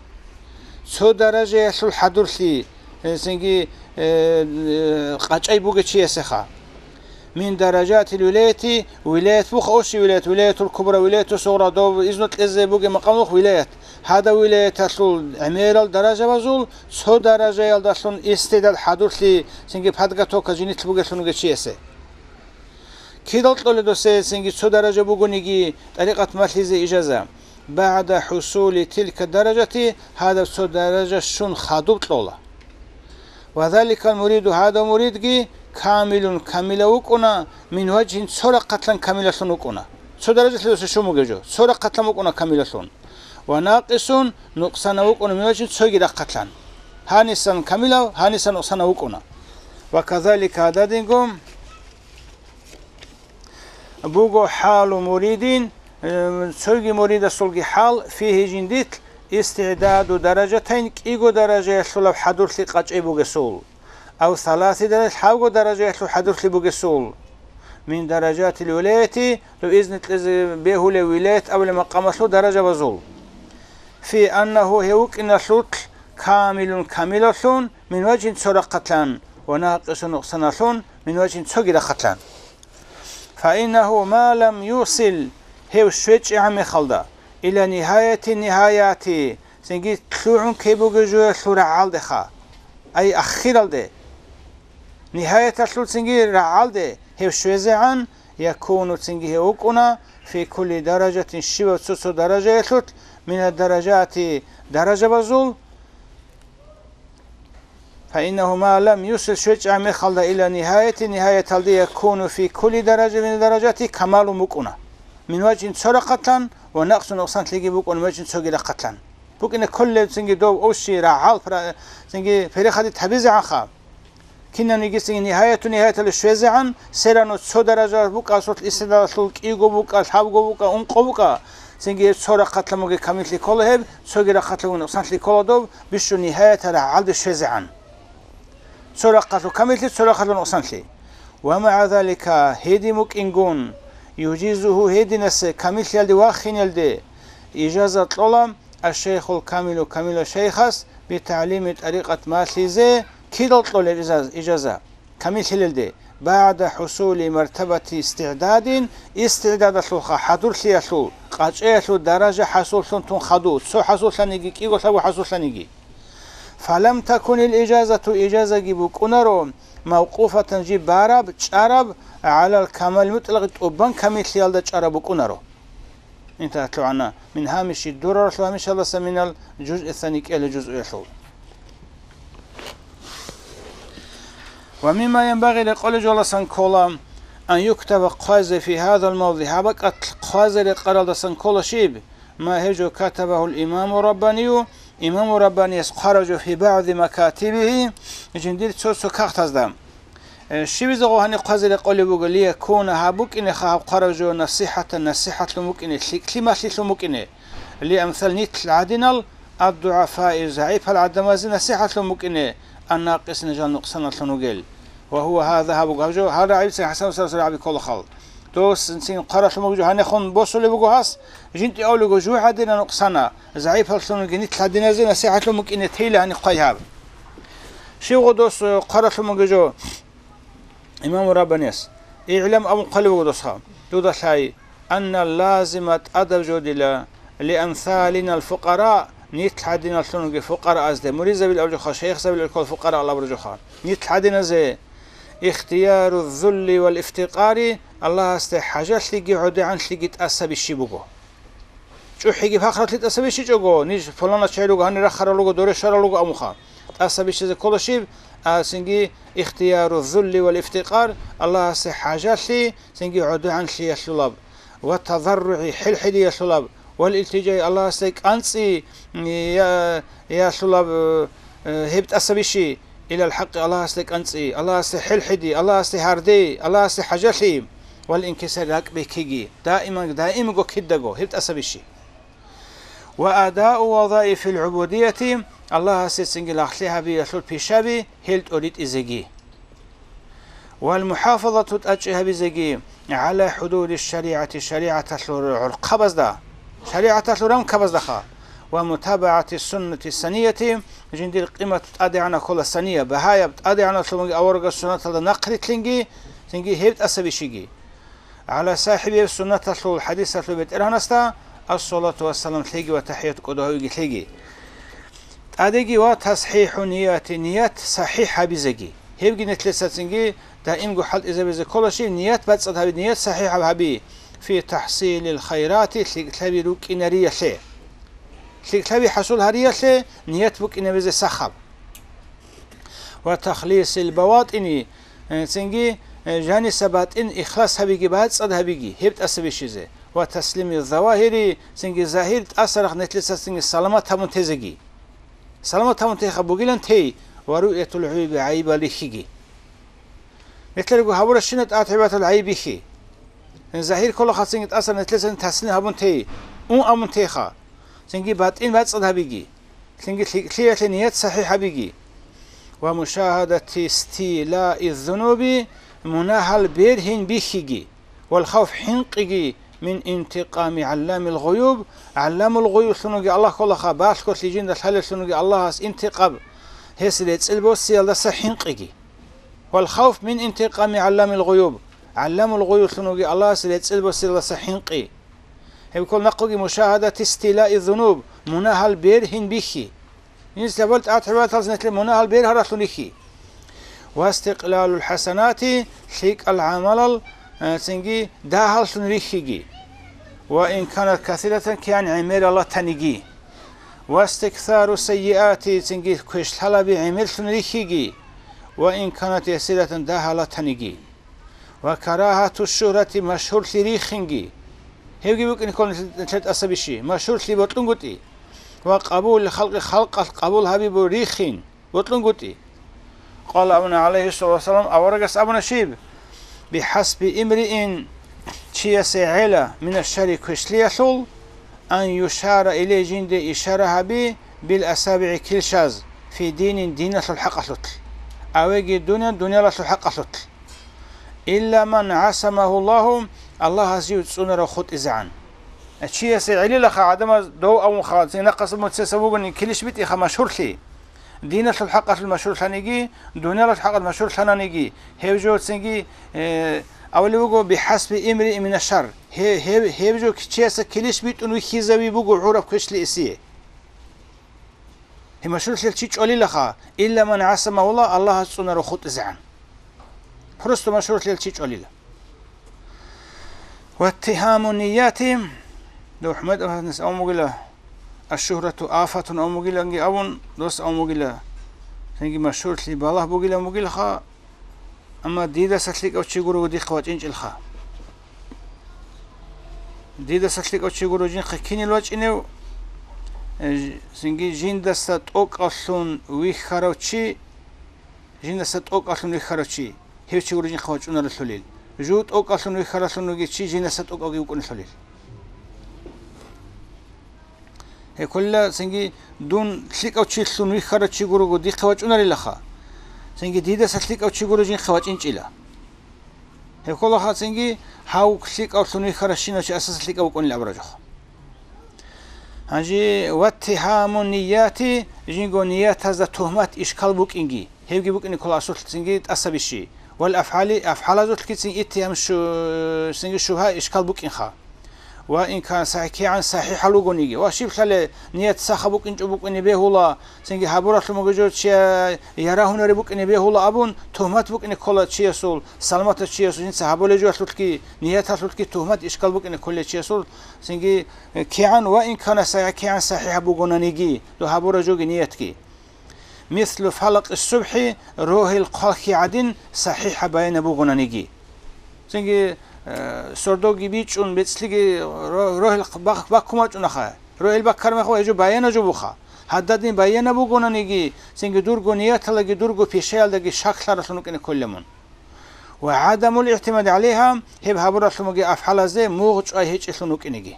Цо даражаялъул хӀадурлъи, э, цинги, э, э, къачӀай бугев чиясеха. Мин даражатил вилаяти, вилаят бух оши вилаят, вилаятул кубра, вилаяту сугъра, дов изну кьезе бугеб макъам бух вилаят. Гьадав вилаяталъул гӀемерал даражабазул цо даражаялдалъун истигӀдад хӀадурлъи, цинги подготовка жинилъ бугелъун вугев чиясе. Кидал кьолеб досе цинги цо даража бугониги тӀарикъат малъизе ижаза? БагӀда хӀусули тилка даражати, гьадаб цо даража щун хадуб кьола. Ва заликал муриду, гьадав муридги камилун, камила вукӀуна, мин важгьин, цо рахъалъан камилалъун вукӀуна. Цо даражалъе досе щун бугев жо, цо рахъалъан вукӀуна камилалъун. Ва накъисун, нукъсана вукӀуна, мин важгьин, цоги рахъалъан. Гьанисан камилав, гьанисан нукъсана вукӀуна. Ва казалика гьададинго буго хӀалу муридин, э, цоги муридасулги хӀал, фигьи жиндилъ, истигӀдаду даражатайн, кӀиго даражаялъулаб хӀадурлъи къачӀей бугесул, ав саласи даража, лъабго даражаялъул хӀадурлъи бугесул, мин даражатил вилаяти, дов изну кьезе бегьулев вилаят абулеб макъамалъул даражабазул. Фи аннагьу, гьев вукӀиналъулъ, камилун, камилалъун, мин важгьин, цо рахъалъан, ва накъисун, нукъсаналъун, мин важгьин, цоги рахъалъан. Фаиннагьу ма лам юсил, гьев щвечӀегӀан мехалда, ила нигьаяти нигьаяти, цинги лъугӀун ккей бугев жоялъул рагӀалдеха, ай ахиралде. Нигьаяталъул цинги рагӀалде гьев щвезегӀан, якуну, цинги гьев вукӀуна, фи кулли даражатин, щивав цо-цо даражаялъулъ, мина даражати, даражабазул, Фаиннагьу ма лам юсил, щвечӀа мехалда, ила нигьаяти, нигьаяталде, якуну фи кулли даража мин даражати, камалун букӀуна. Мин важгьин, цо рахъалъан, ва накъсун, нукъсанлъиги букӀун, мин важгьин, цоги рахъалъан. БукӀине кколеб цинги дов овщи, рагӀал, пра-, цинги перехадит гьабизегӀанха. Кинаниги цинги нигьаяту нигьаяталде щвезегӀан, серано цо даража букӀа, асулъ истидалалъул кӀиго букӀа, лъабго букӀа, ункъо букӀа, цинги гьеб цо рахъалъан бугеб камиллъи ккола гьеб, цоги рахъалъан бугеб нукъсанлъи ккола доб, бищун нигьаятал рагӀалде щвезегӀан. Цо рахъалъул камиллъи, цо рахъалъул нукъсанлъи. Ва магӀа залика, гьедин букӀингун, южизуху, гьединасе камиллъиялде вахинелде ижаза кьола, аш-шайхул камилу, камила шайхас, битагӀлими тӀарикъат малъизе кидал кьолеб изаз-, ижаза, камиллъилелде, багӀда хӀусули мартабати истигӀдадин, истигӀдадалъулха, хӀадурлъиялъул, къачӀаялъул даража хӀасуллъун тун хаду, цо хӀасуллъаниги, кӀиго-лъабго хӀасуллъаниги. Фалам такунил ижазату, ижазаги букӀунаро, мавкъуфатан, жиб бараб, чӀараб, гӀалал камал мутӀлакъи, тӀубан камиллъиялда чӀараб букӀунаро. Интахъ лъугӀана мин гьамиши дураралъул гьамишалдаса минал жузъи сани кӀела жузъуялъул. Ва мимма янбагъи, рекъолеб жоласан ккола, ан юктаба, хъвазе, фи гьадал мавзи, гьаб бакӀалъ хъвазе рекъаралдасан ккола щиб, ма гьеб жо катабагьул имаму раббанию, имаму раббанияс хъварав жо, фи багӀзи макатибигьи, жиндир цо-цо кагътазда. Э, щибизе гъо гьаниб хъвазе рекъолеб буго, лиякуна, гьаб букӀинеха гьаб хъварав жо насихӀатан, насихӀатлъун букӀине, лъикӀлъи малъилъун букӀине, лиамсал, нилъ гӀадинал, аддугӀафаи, загӀипал гӀадамазе насихӀатлъун букӀине, аннакъисина, жал нукъсаналлъун вугел. Ва гьува гьаза, гьаб буго гьаб жо, гьал рагӀибцин ХӀасан устарас рагӀаби кколахъал. Дос цин хъаравлъун буго жо гьанехун босулеб буго гьас, жинтӀи авлего жугьадина нукъсана, загӀипаллъунги нилъ гьадиназе насихӀатлъун букӀине тейла гьанихъ хъвай гьаб. Щивго дос, э, хъаравлъун буго жо имаму Раббанияс. ИгӀлам абун хъвалеб буго досха. Дуда лъай, анна лазима, тӀадаб жо дила, лиамсалинал фукъара, нилъ гьадиналлъунги фукъараазде, муридзабил абуржуха, шайихзабил уркал фукъара алабуржуха. Нилъ гьадиназе ихтияру зулли вал ифтикъари, Аллагьасде хӀажалъиги гӀодегӀанлъиги тӀаса бищи буго. ЧӀухӀиги пахралъи тӀаса бищичӀого, ниж пуланас чай руго, гьанир рахарал руго, доре щварал руго абунха. ТӀаса бищизе ккола щиб, а, цинги ихтияру зулли вал ифтикъар, Аллагьасе хӀажалъи, цинги гӀодегӀанлъиялъулаб, ва тазарругӀи, хӀилхӀидиялъулаб, вал илтиджаи, Аллагьасде кӀанцӀи, я-, ялъулаб, э, гьеб тӀаса бищи. Илал хӀакъи, Аллагьасде кӀанцӀи, Аллагьасде хӀилхӀиди, Аллагьасде гьардей, Аллагьасде хӀажалъи, вал инкисар, ракӀ бекиги, даиман, даимго кидаго гьеб тӀаса бищи. Ва адау вазаифил гӀубудияти, Аллагьасе цинги лагълъи гьабиялъул пишаби гьел тӀоритӀизеги. Вал мухӀафазату, тӀачӀи гьабизеги, гӀала хӀудуди шаригӀати, шаригӀаталъул гӀурхъабазда, шаригӀаталъул рамкабаздаха, ва мутабагӀати суннати санияти, жиндир къимат тӀадегӀанаб ккола сания, багьаяб тӀадегӀанаблъун аварагасул суннаталда нахърилълъинги, цинги гьеб тӀаса бищиги. ГӀала сахӀибил суннаталъул хӀадисалъул бетӀергьанасда ассалату вассалам лъеги ва тахӀият кӀодо гьавиги лъеги. ТӀадеги ва тасхӀихӀу нияти, ният сахӀихӀ гьабизеги. Гьебги нилъеца цинги даимго хӀалтӀизабизе ккола щиб, ният бацӀцӀад гьаби, ният сахӀихӀаб гьаби, фи тахӀсилил хайрати, лъикӀлъаби рукӀинариялъе. ЛъикӀлъаби хӀасул гьариялъе ният букӀинабизе сахаб. Ва тахлисил баватӀини, э, цинги, э, жаниса батӀин ихлас гьабиги, бацӀцӀад гьабиги, гьеб тӀаса бищизе. Ва таслими завагьири, цинги загьир тӀасарахъ нилъеца цинги саламат гьабун тезеги. Саламат гьабун теха бугилан тей, ва руъятул гӀуйби, гӀайибал рихьиги. Нилъерго гьабуращина тӀатӀибатал гӀайиб бихьи. Загьир кколаха цинги тӀаса нилъеца таслим гьабун тей, ун абун теха, цинги батӀин бацӀцӀад гьабиги. Цинги лъикӀлъиялъе ният сахӀихӀ гьабиги. Ва мушагьадати истилаи зунуби, мунагьал бергьин бихьиги, вал хавф, хӀинкъиги, мин интикъами гӀалламил гъуюб, гӀалламул гъуюблъун вуги Аллагь кколаха, балъголъи жинда лъалеллъун вуги Аллагьас интикъаб, гьес рецӀел босиялдаса хӀинкъиги. Вал хавф мин интикъами гӀалламил гъуюб, гӀалламул гъуюблъун вуги Аллагьас рецӀел босиялдаса хӀинкъи. Гьеб ккол нахъуги мушагьадати истилаи зунуб, мунагьал бергьин бихьи. Инсабал тӀатӀибаталъ нилъер мунагьал бергьаралъун рихьи. Ва истикълалул хӀасанати, лъикӀал гӀамалал, э, цинги дагьаллъун рихьиги. Ва ин канат касиратан, кигӀан гӀемерал ратаниги. Ва истиксару сайиати, цинги квешлъалаби гӀемерлъун рихьиги. Ва ин канат ясиратан, дагьал ратаниги. Ва карагьату шугьрати, машгьурлъи рихинги. Гьевги букӀин ккола нилъер тӀаса бищи, машгьурлъи бокьунгутӀи. Ва къабул халкъи, халкъалъ къабул гьаби бу рихин, бокьунгутӀи. Къала абуна, гӀалайгьиссалату вассалам, аварагас абуна щиб: «БихӀасби имриин», чиясе гӀела, «мина шарри», квешлъиялъул, «ан юшара илей», жинде ишара гьаби, «бил асабигӀи», килщаз, «фи динин», диналъул хӀакъалъулъ, «авеги дуниян», дуниялалъул хӀакъалъулъ. «Илла ман гӀасамагьу Аллагьу», Аллагьас жив цӀунарав хутӀизегӀан. Чиясе гӀелилаха гӀадамаз дов авунха, цинги нахъаса муцеса вугони килищ битӀиха машгьурлъи. Диналъул хӀакъалъулъ машгьурлъаниги, дуниялалъул хӀакъалъулъ машгьурлъананиги, гьев жо цинги, э, авли вуго, «бихӀасби имриин мина шарр». Гье-, гьев, гьев жо чияса килищ битӀун вихьизави буго гӀураб квешлъи эсие. Гьеб машгьурлъиялъ чи чӀолилаха, илла ман гӀасамагьу Аллагь, Аллагьас цӀунарав хутӀизегӀан. Просто машгьурлъиялъ чи чӀолила. Ваттигьаму нияти, дов ХӀумайд аварагас абун бугила, аш-шугьрату афатун абун бугиланги абун, дос абун бугила, цинги машгьурлъи балагь бугилан бугилха, амма дидаса лъикӀав чи гурого дихъ вачӀинчӀелха. Дидаса лъикӀав чи гуро жинхъа кинил вачӀинев, э, ж-, цинги жиндаса тӀокӀаллъун вихьарав чи, жиндаса тӀокӀаллъун вихьарав чи, гьев чи гуро жинхъа вачӀунаралъулил. Жув тӀокӀаллъун вихьаралъун вугев чи жиндаса тӀокӀавги вукӀунелъулил. Гьекъолла цинги дун лъикӀав чилъун вихьарав чи гурого дихъе вачӀунарилаха, цинги дидаса лъикӀав чи гуро жинхъе вачӀинчӀила. Гьекъолаха цинги гьав лъикӀавлъун вихьаращинав чи асаса лъикӀав вукӀунил абуражухъ. Гьанже ваттигьаму нияти, жинго ниятазда тухмат, ишкал букӀинги. Гьебги букӀине ккола асулъ цинги тӀасабищи. Вал афгӀали, афгӀалазулъги цин иттигьам шу-, цинги шубгьа, ишкал букӀинха. Ва ин кан сахӀи-, кигӀан сахӀихӀал вугониги. Ва щиблъали ният сахаб букӀинчӀо букӀине бегьула, цинги гьабуралъун буго жо чия ярагьунареб букӀине бегьула абун, тухмат букӀине ккола чиясул, саламатав чиясул, жинца гьабулеб жоялъулъги, нияталъулъги тухмат, ишкал букӀине кколел чиясул, цинги, э, кигӀан ва ин кана сахӀи-, кигӀан сахӀихӀаб бугонаниги, дов гьабураб жоги ниятги. Мислу фалакъи субхӀи, рогьел хъвалхьи гӀадин, сахӀихӀаб баянаб бугонаниги. Цинги, э, сордоги бичӀчӀун, бецӀлъиги ро-, рогьел бах-, баккун бачӀунаха. Рогьел баккараб мехалъ гьеб жо баянаб жо буха. Гьададин баянаб бугонаниги, цинги дурго нияталдаги дурго пишаялдаги шаклъаралъун вукӀине кколеб мун. Ва гӀадамул игӀтимади гӀалайгьа, гьеб гьабуралъумаги афгӀалазе мугъ чӀвай гьечӀелъун вукӀинеги.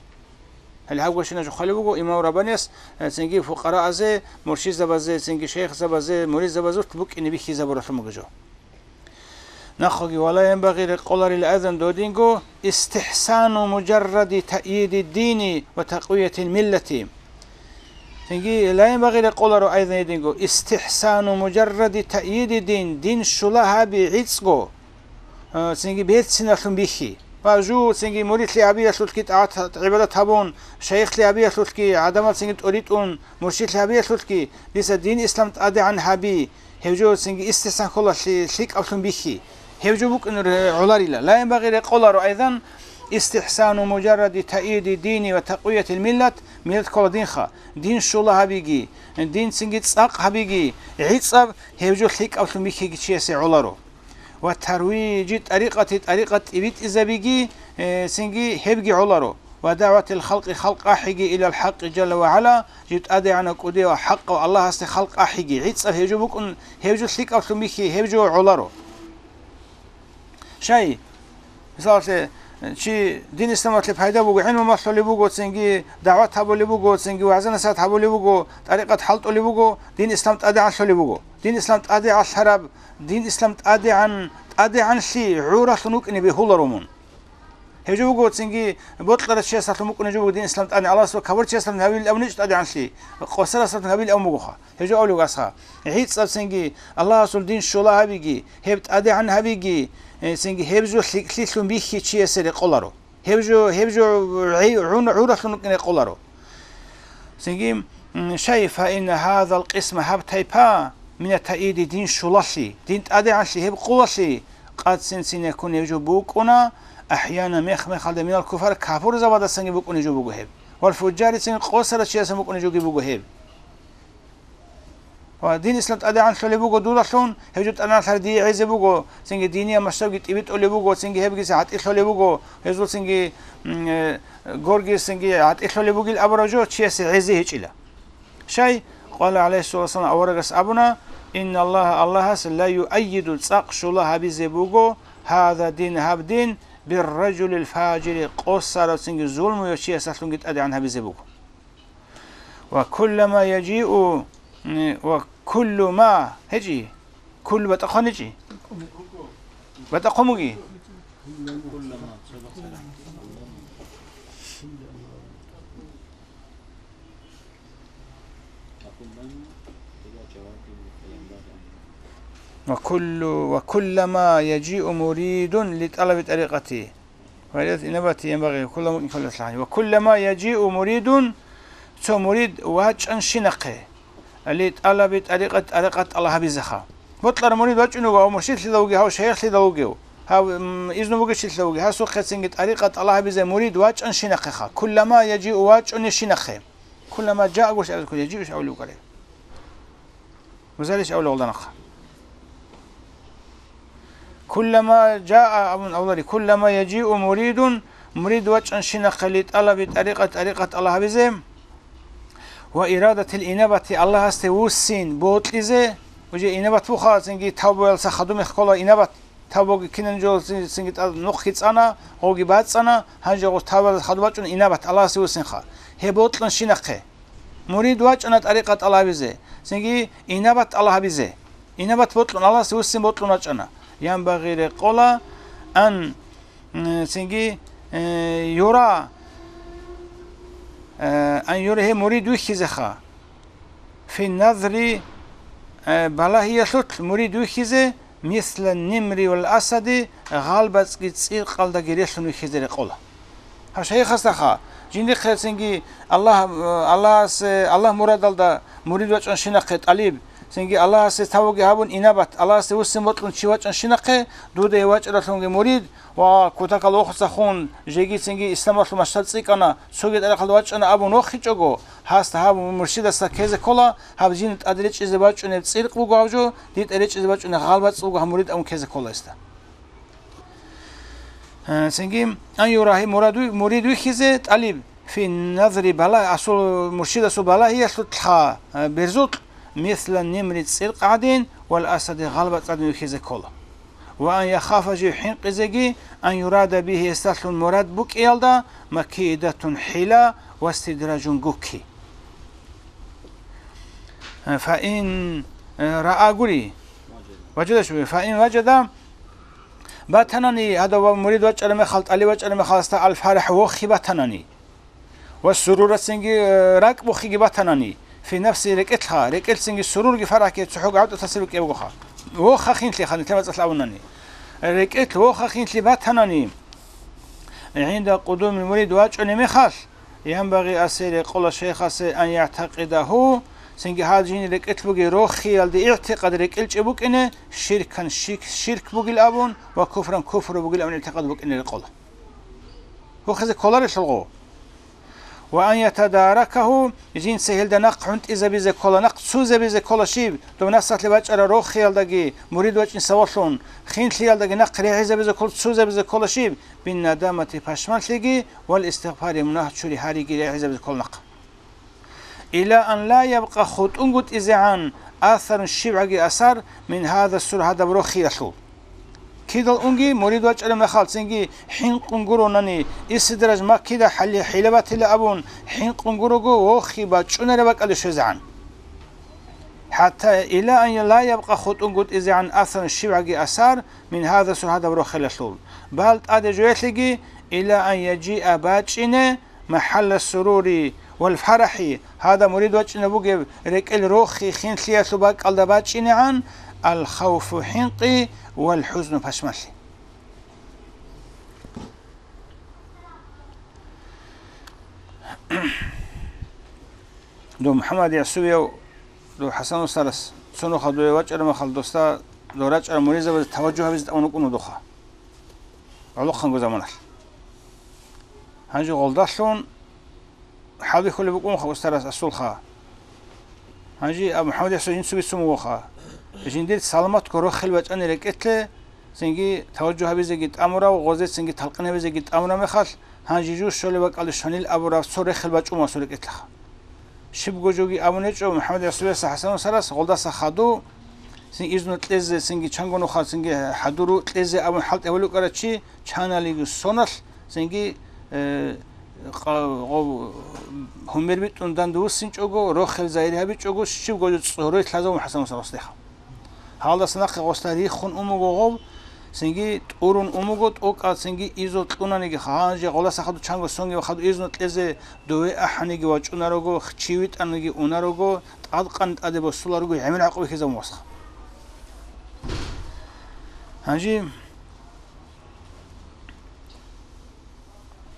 Гьале гьаб гощинаб жо хъвалеб буго имам Раббаниялъ, э, цинги фукъараазде, муршидзабазде, цинги шайихзабазде, муридзабазулъ букӀине бихьизабуралъумаги жо. Нахъоги, ва ла янбагъи, рекъоларила айзан додинго, истихсану муджарради таъйиди дини ва такъвиятил миллати. Цинги, ла янбагъи, рекъоларо айзан гьединго, истихсану муджарради таъйиди дин, дин щула гьаби гӀицӀго, а, цинги берциналъун бихьи. Ва жу, цинги муридлъи гьабиялъулъги тӀагӀат-, гӀибадат гьабун, шайихлъи гьабиялъулъги гӀадамал цинги тӀоритӀун, муршидлъи гьабиялъулъги дица дин ислам тӀадегӀан гьаби, гьев жо цинги истихсан ккола лъи-, лъикӀаблъун бихьи. Гьев жо букӀунеб гӀоларила. Ла янбагъи, рекъоларо айзан, истихсану муджарради таъйиди дини ва такъвиятил миллат, миллат ккола динха, дин щула гьабиги, дин цинги цӀакъ гьабиги, гӀицӀаб гьев жо лъикӀаблъун бихьиги чиясе гӀоларо. Ва тарвижи тӀарикъати, тӀарикъат тӀибитӀизабиги, э, цинги гьебги гӀоларо. Ва дагӀватил халкъи, халкъ ахӀиги, илал хӀакъи жалла ва гӀала, жив ТӀадегӀанав кӀудияв хӀакъав Аллагьасде халкъ ахӀиги, гӀицӀаб гьев жо букӀун, гьев жо лъикӀаблъун бихьи, гьев жо гӀоларо. Щай, мисалалъе, чи дин исламалъе пайда буго, гӀилму малъулеб буго, цинги дагӀват гьабулеб буго, цинги вагӀза-насихӀат гьабулеб буго, тӀарикъат хӀалтӀулеб буго, дин ислам тӀадегӀанлъулеб буго. Дин ислам тӀадегӀанлъараб, дин ислам тӀадегӀан, тӀадегӀанлъи гӀуралъун вукӀине бегьуларо мун. Гьев жо буго, цинги бокьарав чиясалъун букӀунеб жо буго дин ислам тӀадегӀан, Аллагьасул кавар чиясалъун гьабилин абуничӀ тӀадегӀанлъи, къосарасалъун гьабилин абун бугоха. Гьев жо абулеб асха. ГӀицӀаб цинги Аллагьасул дин щула гьабиги, гьеб тӀадегӀан гьабиги, э, цинги гьеб жо лъикӀлъилъун бихьи чиясе рекъоларо. Гьеб жо, гьеб жо гӀи-, гӀун-, гӀуралъун рекъоларо. Цинги, м, шай, фа инна гьазал къисма, гьаб тайпа, мина таъиди, дин щулалъи, дин тӀадегӀанлъи, гьеб къулалъи, къад син-син якун гьев жо букӀуна, ахӀяна мех-мехалда минал куфар, капурзабаздасанги букӀунеб жо буго гьеб. Вал фужжари, цинги къосарав чиясдасан букӀунеб жоги буго гьеб. Ва дин ислам тӀадегӀанлъулеб буго дудалъун, гьев жо тӀадегӀанлъараб дие гӀезе буго, цинги диниял масштабги тӀибитӀулеб буго, цинги гьебги гӀатӀилъулеб буго, гьезул цинги, м, э, горги цинги гӀатӀилъулеб бугил абураб жо чиясе гӀезе гьечӀила. Щай, къала гӀалайгьиссалату вассалам, аварагас абуна, инналлагьа, Аллагьас, ла юаййиду, цӀакъ щула гьабизе буго, гьаза дин, гьаб дин, бирражулил фажири, къосарав цинги зулмуяв чиясалъунги тӀадегӀан гьабизе буго. Ва куллама яжиу, м, ва куллу ма, гьечӀи, куллу батӀа хъван гьечӀи? БатӀа хъван буги? Ва куллу, ва куллама яжиу муридун ли тӀалаби тӀарикъати. Ва илал инабати янбагъи кулла мукъин каллалъагьани. Ва куллама яжиу муридун, цо мурид вачӀанщинахъе, ли тӀалаби тӀарикъат, тӀарикъат тӀалаб гьабизеха. Бокьарав мурид вачӀун вуго, гьав муршидлъидал вугев, гьав шайихлъидал вугев, гьав, м, изну бугечилъидал вугев, гьасухъе цинги тӀарикъат тӀалаб гьабизе мурид вачӀанщинахъеха. Куллама яжиу, вачӀунищинахъе. Куллама жаа гуш аб-, яжиу иш авлугъаре. Музалиш авлугъалда нахъа. Куллама жаа абун авлари, куллама яжиу муридун, мурид вачӀанщинахъе ли тӀалаби тӀарикъат, тӀарикъат тӀалаб гьабизе, ва ирадатил инабати, Аллагьасде вуссин бокьизе, уже инабат буха, цинги тавбаялса хадумех ккола инабат, тавбаги кинан жо цин-, цинги тӀад нухги цӀана, гъоги бацӀцӀана, гьанже гъос тавбаялса хадуб бачӀун инабат, Аллагьасде вуссинха. Гьеб бокьанщинахъе. Мурид вачӀана тӀарикъат тӀалабизе, цинги инабат тӀалабизе. Инабат бокьун, Аллагьасде вуссин бокьун вачӀана. Янбагъи, рекъола, ан, м, цинги, э, юра, э, ан юра, гьев мурид вихьизеха. Фи назри, э, балагьиялъулъ мурид вихьизе, мисла нимри вал асади, гъалбацӀги цӀикъалдаги релълъун вихьизе рекъола. Гьаб шайихасдаха, жиндихъе цинги Аллагь, Аллагьас, Аллагь мурадалда мурид вачӀанщинахъе тӀалиб, цинги Аллагьасе тавбаги гьабун инабат, Аллагьасде вуссин бокьун чи вачӀанщинахъе, дуда гьев вачӀаралъунги мурид ва кутакал вохуцахун жеги цинги исламалъул масштаб цӀикӀкӀана, цоги тӀарикъалда вачӀана абун вохичӀого, гьасда гьаб муршидасда ккезе ккола, гьаб жинда тӀаде речӀчӀизе бачӀунеб цӀиркъ буго гьаб жо, дин тӀаде речӀчӀизе бачӀунеб гъалбацӀ буго гьаб мурид абун ккезе ккола гьесда. Э, цинги, ан юрагьи мураду-, мурид вихьизе тӀалиб. Фи назри бала-, асул муршидасул балагьиялъулъха, э, берзукь, мисла нимри цӀиркъ гӀадин, вал асади гъалбацӀ гӀадин вихьизе ккола. Ва ан яхафа жив хӀинкъизеги, ан юрада бигьи гьесдалъун мурад букӀиялда, макиидатун хӀила ва стидражун гукки. Э, фаин, э, раагури. Важада шуби, фаин важада батанани, гьадав мурид вачӀараб мехалъ, тӀалиб вачӀараб мехалъ, гьасда алфарахӀ вохи батанани. Ва сурурацинги, э, ракӀ бухиги батанани, фи нафси рекӀелъха, рекӀелцинги сурурги фарахги цохӀо гӀавтӀа тасир букӀеб бугоха. Вохха хинлъиха, нилъер мацӀалъ абунани. РекӀелъ вохха хинлъи батанани, гӀинда къудумил мурид вачӀунеб мехалъ, янбагъи асе рекъола шейхасе ан ягӀтакъидагьу, цинги гьал жин рекӀелъ бугеб рохиялде игӀтикъад рекӀелчӀеб букӀине, ширкан ширк, ширк бугил абун ва куфран куфру бугил абун игӀтикъад букӀине рекъола. Вохизе кколарелъулго. Ва ан ятадаракагьу, жинца гьелда нахъ гӀунтӀизабизе ккола, нахъ цузабизе ккола щиб, дов нафсалъе бачӀараб рохиялдаги, мурид вачӀин савалъун, хинлъиялдаги нахъ регӀизабизе ккола, цузабизе ккола щиб, бин надамати пашманлъиги, вал истигъфари мунагь чури гьариги регӀизабизе ккола нахъ. Ила ан ла ябкъа хутӀунгутӀи зегӀан асарун щибгӀаги асар мин гьаза сур гьадаб рохиялъул. Кидал унги мурид вачӀараб мехалцинги хӀинкъун гуронани, Истидраж Маккида хӀали-, хӀилабатила абун хӀинкъун гурого вохи бачӀунареб бакӀалде щвезегӀан. ХӀатта ила ан ла ябкъа хутӀунгутӀизегӀан асарун щибгӀаги асар мин гьаза сур гьадаб рохиялъул. Бал тӀаде жоялъеги ила ан яжиа бачӀине, махӀалла сурури вал фарахӀи, гьадаб мурид вачӀинаб бугеб рекӀел рохи хинлъиялъул бакӀалда бачӀинегӀан, ал-хавфу хӀинкъи вал хӀузну пашмалъи. Дов МухӀаммад Ясувияв, дов ХӀасан устарас, цо нуха дуе вачӀараб мехалъ досда, дов рачӀарал муридзабазе таважжугь гьабизе тӀамун вукӀун вудуха. ГӀолохъанго заманалъ. Гьанже гъолдалъун хӀалбихьулеб букӀунха устарас асулха. Гьанже аб МухӀаммад Ясувиясухъ бицун бугоха. Жиндир саламатго рохел бачӀани рекӀелъе, цинги таважжугь гьабизеги тӀамурав, гъозецинги талкъин гьабизеги тӀамураб мехалъ, гьанже жо щолеб бакӀалде щванил абураб цо рехел бачӀун ва асул рекӀелъаха. Щибго жоги абун гьечӀо МухӀаммад Ясувиясухъ ХӀасан устарас, гъолдаса хадув, цин изну кьезе, цинги чанго нуха, цинги хӀадуру кьезе абун хӀалтӀи гьавулев вукӀарав чи, чаналиги соналъ, цинги, э, къа-, гъов-, гьумер битӀун данде вуссинчӀого, рохел загьир гьабичӀого, щибго жо цӀорой лъазабун ХӀасан устарас гъослъиха. Гьалдаса нахъе гъосда риххун ун буго гъов, цинги тӀурун ун буго, тӀокӀал цинги изну кьунаниги, гьанже гъолдаса хадув чанго сонги ва хадув изну кьезе дове ахӀаниги вачӀунарого, чи витӀаниги унарого, тӀадкъан тӀаде босуларого гӀемер гӀакъуба ккезабун васха. Гьанже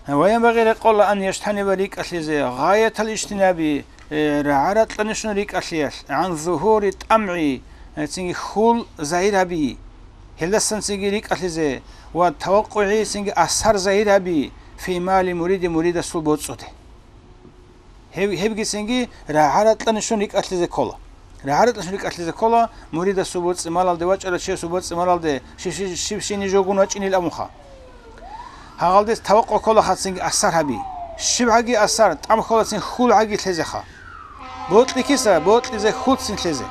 Ва янбагъи рекъола ан яжтаниба рикӀкӀалъизе гъаятал ижтинаби, э, рагӀа-ракьанищун рикӀкӀалъиялъ, гӀан зугьури тӀамгӀи, э, цинги хьул загьир гьаби, гьелдасан цинги рикӀкӀалъизе ва тавакъугӀи цинги асар загьир гьаби, фи мали муриди муридасул боцӀуде. Гьеб-, гьебгицинги рагӀа-ракьанищун рикӀкӀалъизе ккола. РагӀа-ракьанищун рикӀкӀалъизе ккола, муридасул боцӀи-малалде вачӀарав чиясул боцӀи-малалде щи-, щи-, щибщинаб жо гун вачӀинил абунха. Гьагъалдаса тавакъу ккола хацинги асар гьаби. ЩибгӀаги асар, тӀам кколацин хьул гӀаги лъезеха. Бокьи киса, бокьизе хьулцин лъезе.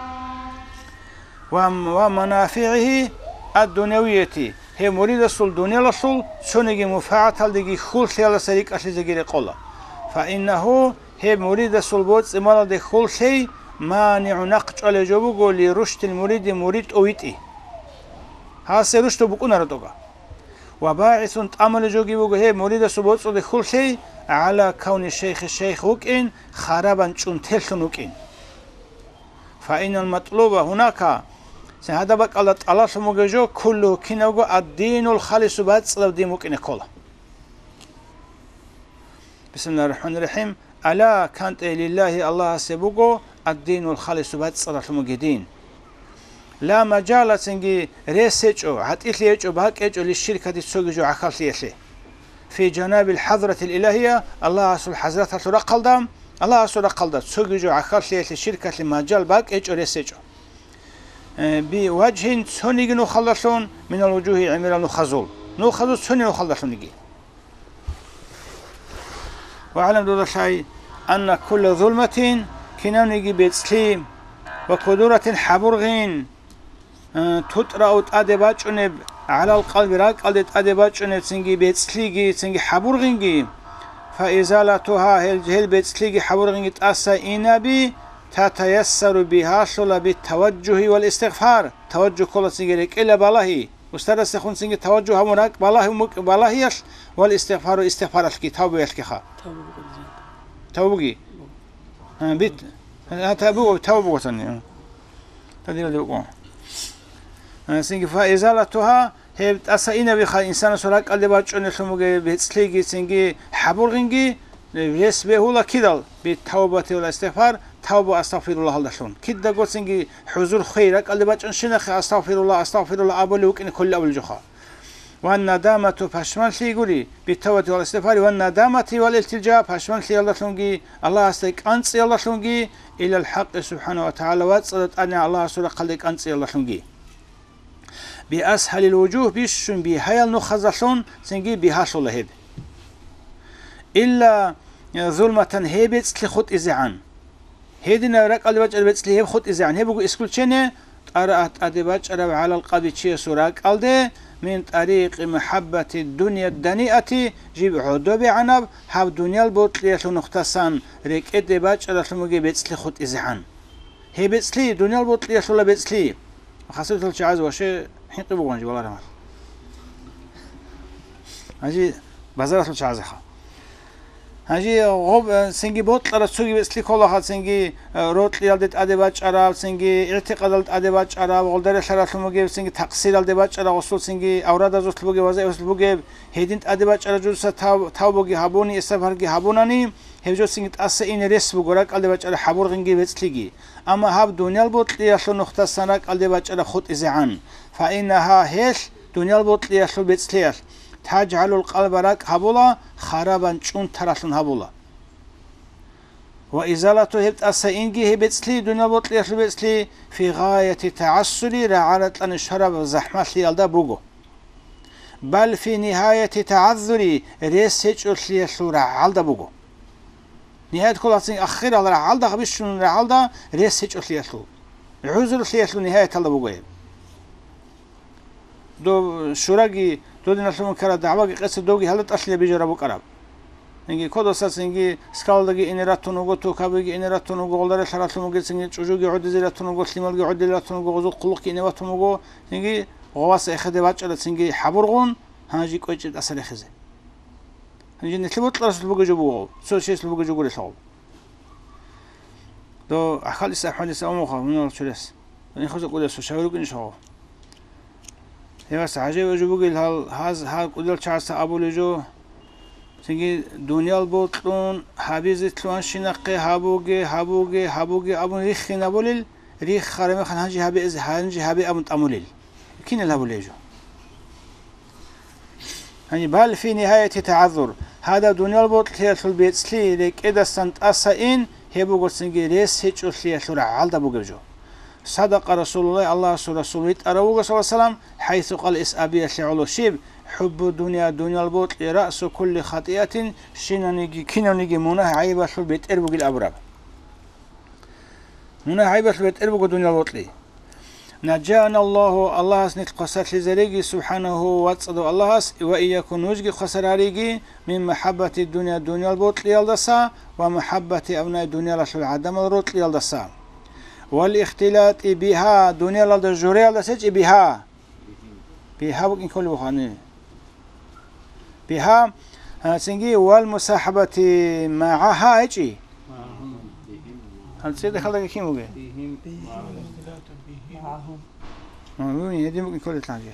Ва, ва манафигӀигьи ад-дунявияти, гьев муридасул дуниялалъул цониги мунфагӀаталдеги хьул лъеялдаса рикӀкӀалъизеги рекъола. Фаиннагьу, гьеб муридасул боцӀи-малалде хьул лъей, манигӀу, нахъ чӀвалев жо буго, ли рушдил муриди, мурид тӀовитӀи. Гьасе рушдул букӀунаро тӀога. Ва багӀисун, тӀамулев жоги буго гьеб муридасул боцӀуде хьул лъей, гӀала кавни шейхи, шейх вукӀин, харабан, чӀунтеллъун вукӀин. Фаинал матлуба гьунака, цин гьадаб бакӀалда тӀалаблъун бугеб жо, куллугьу, кинабго, ад-динул халису, бацӀцӀадаб дин букӀине ккола. Бисмиллагьир рахӀманир рахӀим. Ала, кантӀе, лиллагьи, Аллагьасе буго, ад-динул халису, бацӀцӀадалъун бугеб дин. Ла мажала, цинги рес гьечӀо, гӀатӀилъи гьечӀо, бакӀ гьечӀо, лиширкати, цоги жо гӀахьаллъиялъе. Фи жанабил хӀазратил илагьия, Аллагьасул хӀазраталъул рахъалда, Аллагьасул рахъалда цоги жо гӀахьаллъиялъе, ширкалъе мажал, бакӀ гьечӀо, рес гьечӀо. Э, би важгьин, цониги нухалдалъун, минал вужугьи, гӀемерал нухазул. Нухазул цониги нухалдалъуниги. ВагӀлам, дуда лъай, анна кулла зулматин, кинавниги бецӀлъи, ва кудуратин, хӀабургъин, э, тутӀрау, тӀаде бачӀунеб, гӀалал къалби, ракӀалде тӀаде бачӀунеб цинги бецӀлъиги, цинги хӀабургъинги, фаизалатугьа, гьел, гьел бецӀлъиги хӀабургъинги тӀаса инаби, татаяссару, бигьалъула, битаваджугьи вал истигъфар, таваджугь ккола цинги рекӀела балагьи, устарасехун цинги таваджугь гьабун ракӀ балагьи, мукӀ балагьиялъ, вал истигъфару, истигъфаралъги, тавбаялъгиха. Тавбуги. А, бит. А, та буго, тав буго цани. Та дила дила буго. А, синги фа изалатугьа, гьеб тӀаса инабиха, инсанасул ракӀалде бачӀунелъун бугеб бецӀлъиги, синги хӀабургъинги, рес бегьула кидал, би тавбати ва истигъфар, тавба, астагъфируллагьалдалъун. Кидаго цинги хӀузур хвей, ракӀалде бачӀун щинахъе астагъфирулла, астагъфирулла абулев вукӀине кколел абулел жоха. Ва надамату, пашманлъи гури, битавбати вал истигъфари, ва надамати вал илтилжа, пашманлъиялдалъунги, Аллагьасде кӀанцӀиялдалъунги, илал хӀакъи субхӀана ва тагӀала, вацӀцӀадаб тӀадегӀан Аллагьасул рахъалде кӀанцӀиялдалъунги. Биасхалил вужугь, бищун бигьаял нухазалъун цинги бигьалъула гьеб. Илла, э, зулматан, гьеб бецӀлъи хутӀизегӀан. Гьединаб ракӀалде бачӀараб бецӀлъи гьеб хутӀизегӀан. Гьеб буго исключение, тӀараагь тӀаде бачӀараб гӀалал къаби чиясул ракӀалде, мин тӀарикъи мухӀаббати дунья даниати, жиб гӀодобегӀанаб гьаб дуниял бокьиялъул нухтасан рекӀеде бачӀаралъун бугеб бецӀлъи хутӀизегӀан. Гьеб бецӀлъи, дуниял бокьиялъула бецӀлъи. Хасабатал чагӀаз ваше хӀинкъи бугъанжи валарамал. Гьанже базаралъул чагӀазеха. Гьанже гъоб, э, цинги бокьараб цоги бецӀлъи кколаха, цинги, э, рокьиялде тӀаде бачӀараб, цинги игӀтикъадалде тӀаде бачӀараб, гъолда релълъаралъун бугеб, цинги такъсиралде бачӀараб, гъосул цинги аврадазулъ бугеб, вазаивазулъ бугеб, гьедин тӀаде бачӀараб жуса тав-, тавбуги гьабуни, истигъфарги гьабунани, гьеб жо цинги тӀаса ине рес буго, ракӀалде бачӀараб хӀабургъинги бецӀлъиги. Амма гьаб дуниял бокьиялъул нухтасан ракӀалде бачӀараб хутӀизегӀан. Фаинагьа, гьелъ, дуниял бокьиялъул бецӀлъиялъ, тажгӀалул къалба, ракӀ гьабула, харабан, чӀунтаралъун гьабула. Ва изалату, гьеб тӀаса инги гьеб бецӀлъи, дуниял бокьиялъул бецӀлъи, фи гъаяти тагӀассури, рагӀа-ратӀани щвараб захӀмалъиялда буго. Бал фи нигьаяти тагӀаззури, рес гьечӀолъиялъул рагӀалда буго. Нигьаят кколацин ахирал рагӀалда, гьабищун рагӀалда рес гьечӀолъиялъул, гӀузрулъиялъул нигьаяталда буго гьеб. Дов шураги, додиналъун ккараб дагӀбаги къецаб довги гьалда тӀалъила бижараб букӀараб. Инги кодоса цинги скалалдаги ине ратун вуго, тукабиги ине ратун вуго, гъолда релълъаралъун вугецинги чӀужуги гӀодизе ратун вуго, лъималги гӀодизе ратун вуго, гъозул хъулухъги ине ватун вуго, цинги гъоваса эхеде бачӀарацинги хӀабургъун, гьанжи кӀвечӀеб тӀаса рехизе. Гьанже нилъер бокьарасулъ бугеб жо буго, цо чиясулъ бугеб жо гурелъул. Дов гӀахьалиса АхӀмадиса умуха мунал чурес. Нихуса кӀудиялъул шагьи рукӀинищ гьав? Гьевас гӀажаиб жо бугел гьал, гьаз гьал кӀудиял чагӀаца абулеб жо. Цинги дуниял бокьун гьабизе лъугьанщинахъе гьабуге, гьабуге, гьабуге абун риххинабулел, риххараб мехалъ гьанже гьабе, гьанже гьабе абун тӀамулел. Кинал гьабулеб жо? Гьаниб, бал фи нигьаяти тагӀаззур, гьадаб дуниял бокьиялъул бецӀлъи рекӀедасан тӀаса ин, гьеб буго цинги рес гьечӀолъиялъул рагӀалда бугеб жо. Садакъа Расулуллагь, Аллагьасул Расул витӀарав вуго, саллаллагьу гӀалайгьи ва саллам, хӀайсу къала, эс абиялъе гӀоло щиб, хӀуббу дунья, дуниял бокьи, раъсу кулли хатӀиатин, щинаниги, кинавниги мунагь-гӀайибалъул бетӀер бугил абураб. Мунагь-гӀайибалъул бетӀер буго дуниял бокьи. Наджаана Аллагьу, Аллагьас нилъ хвасарлъизариги, субхӀанагьу, вацӀцӀадав Аллагьас, ва ийякум, нужги хвасар гьариги, мин махӀаббати дунья, дуниял бокьиялдаса, ва махӀаббати абнаи, дуниялалъул гӀадамал рокьиялдаса. Вал ихтилати бигьа, дуниялалда журеялдаса гьечӀеб бигьа. Бигьа букӀин кколеб буго гьаниб. Бигьа, а, цинги вал мусахӀабати магӀагьа гьечӀи. ГьанцӀида хьалдаги кин бугеб? А, ну, гьедин букӀин кколелъанги.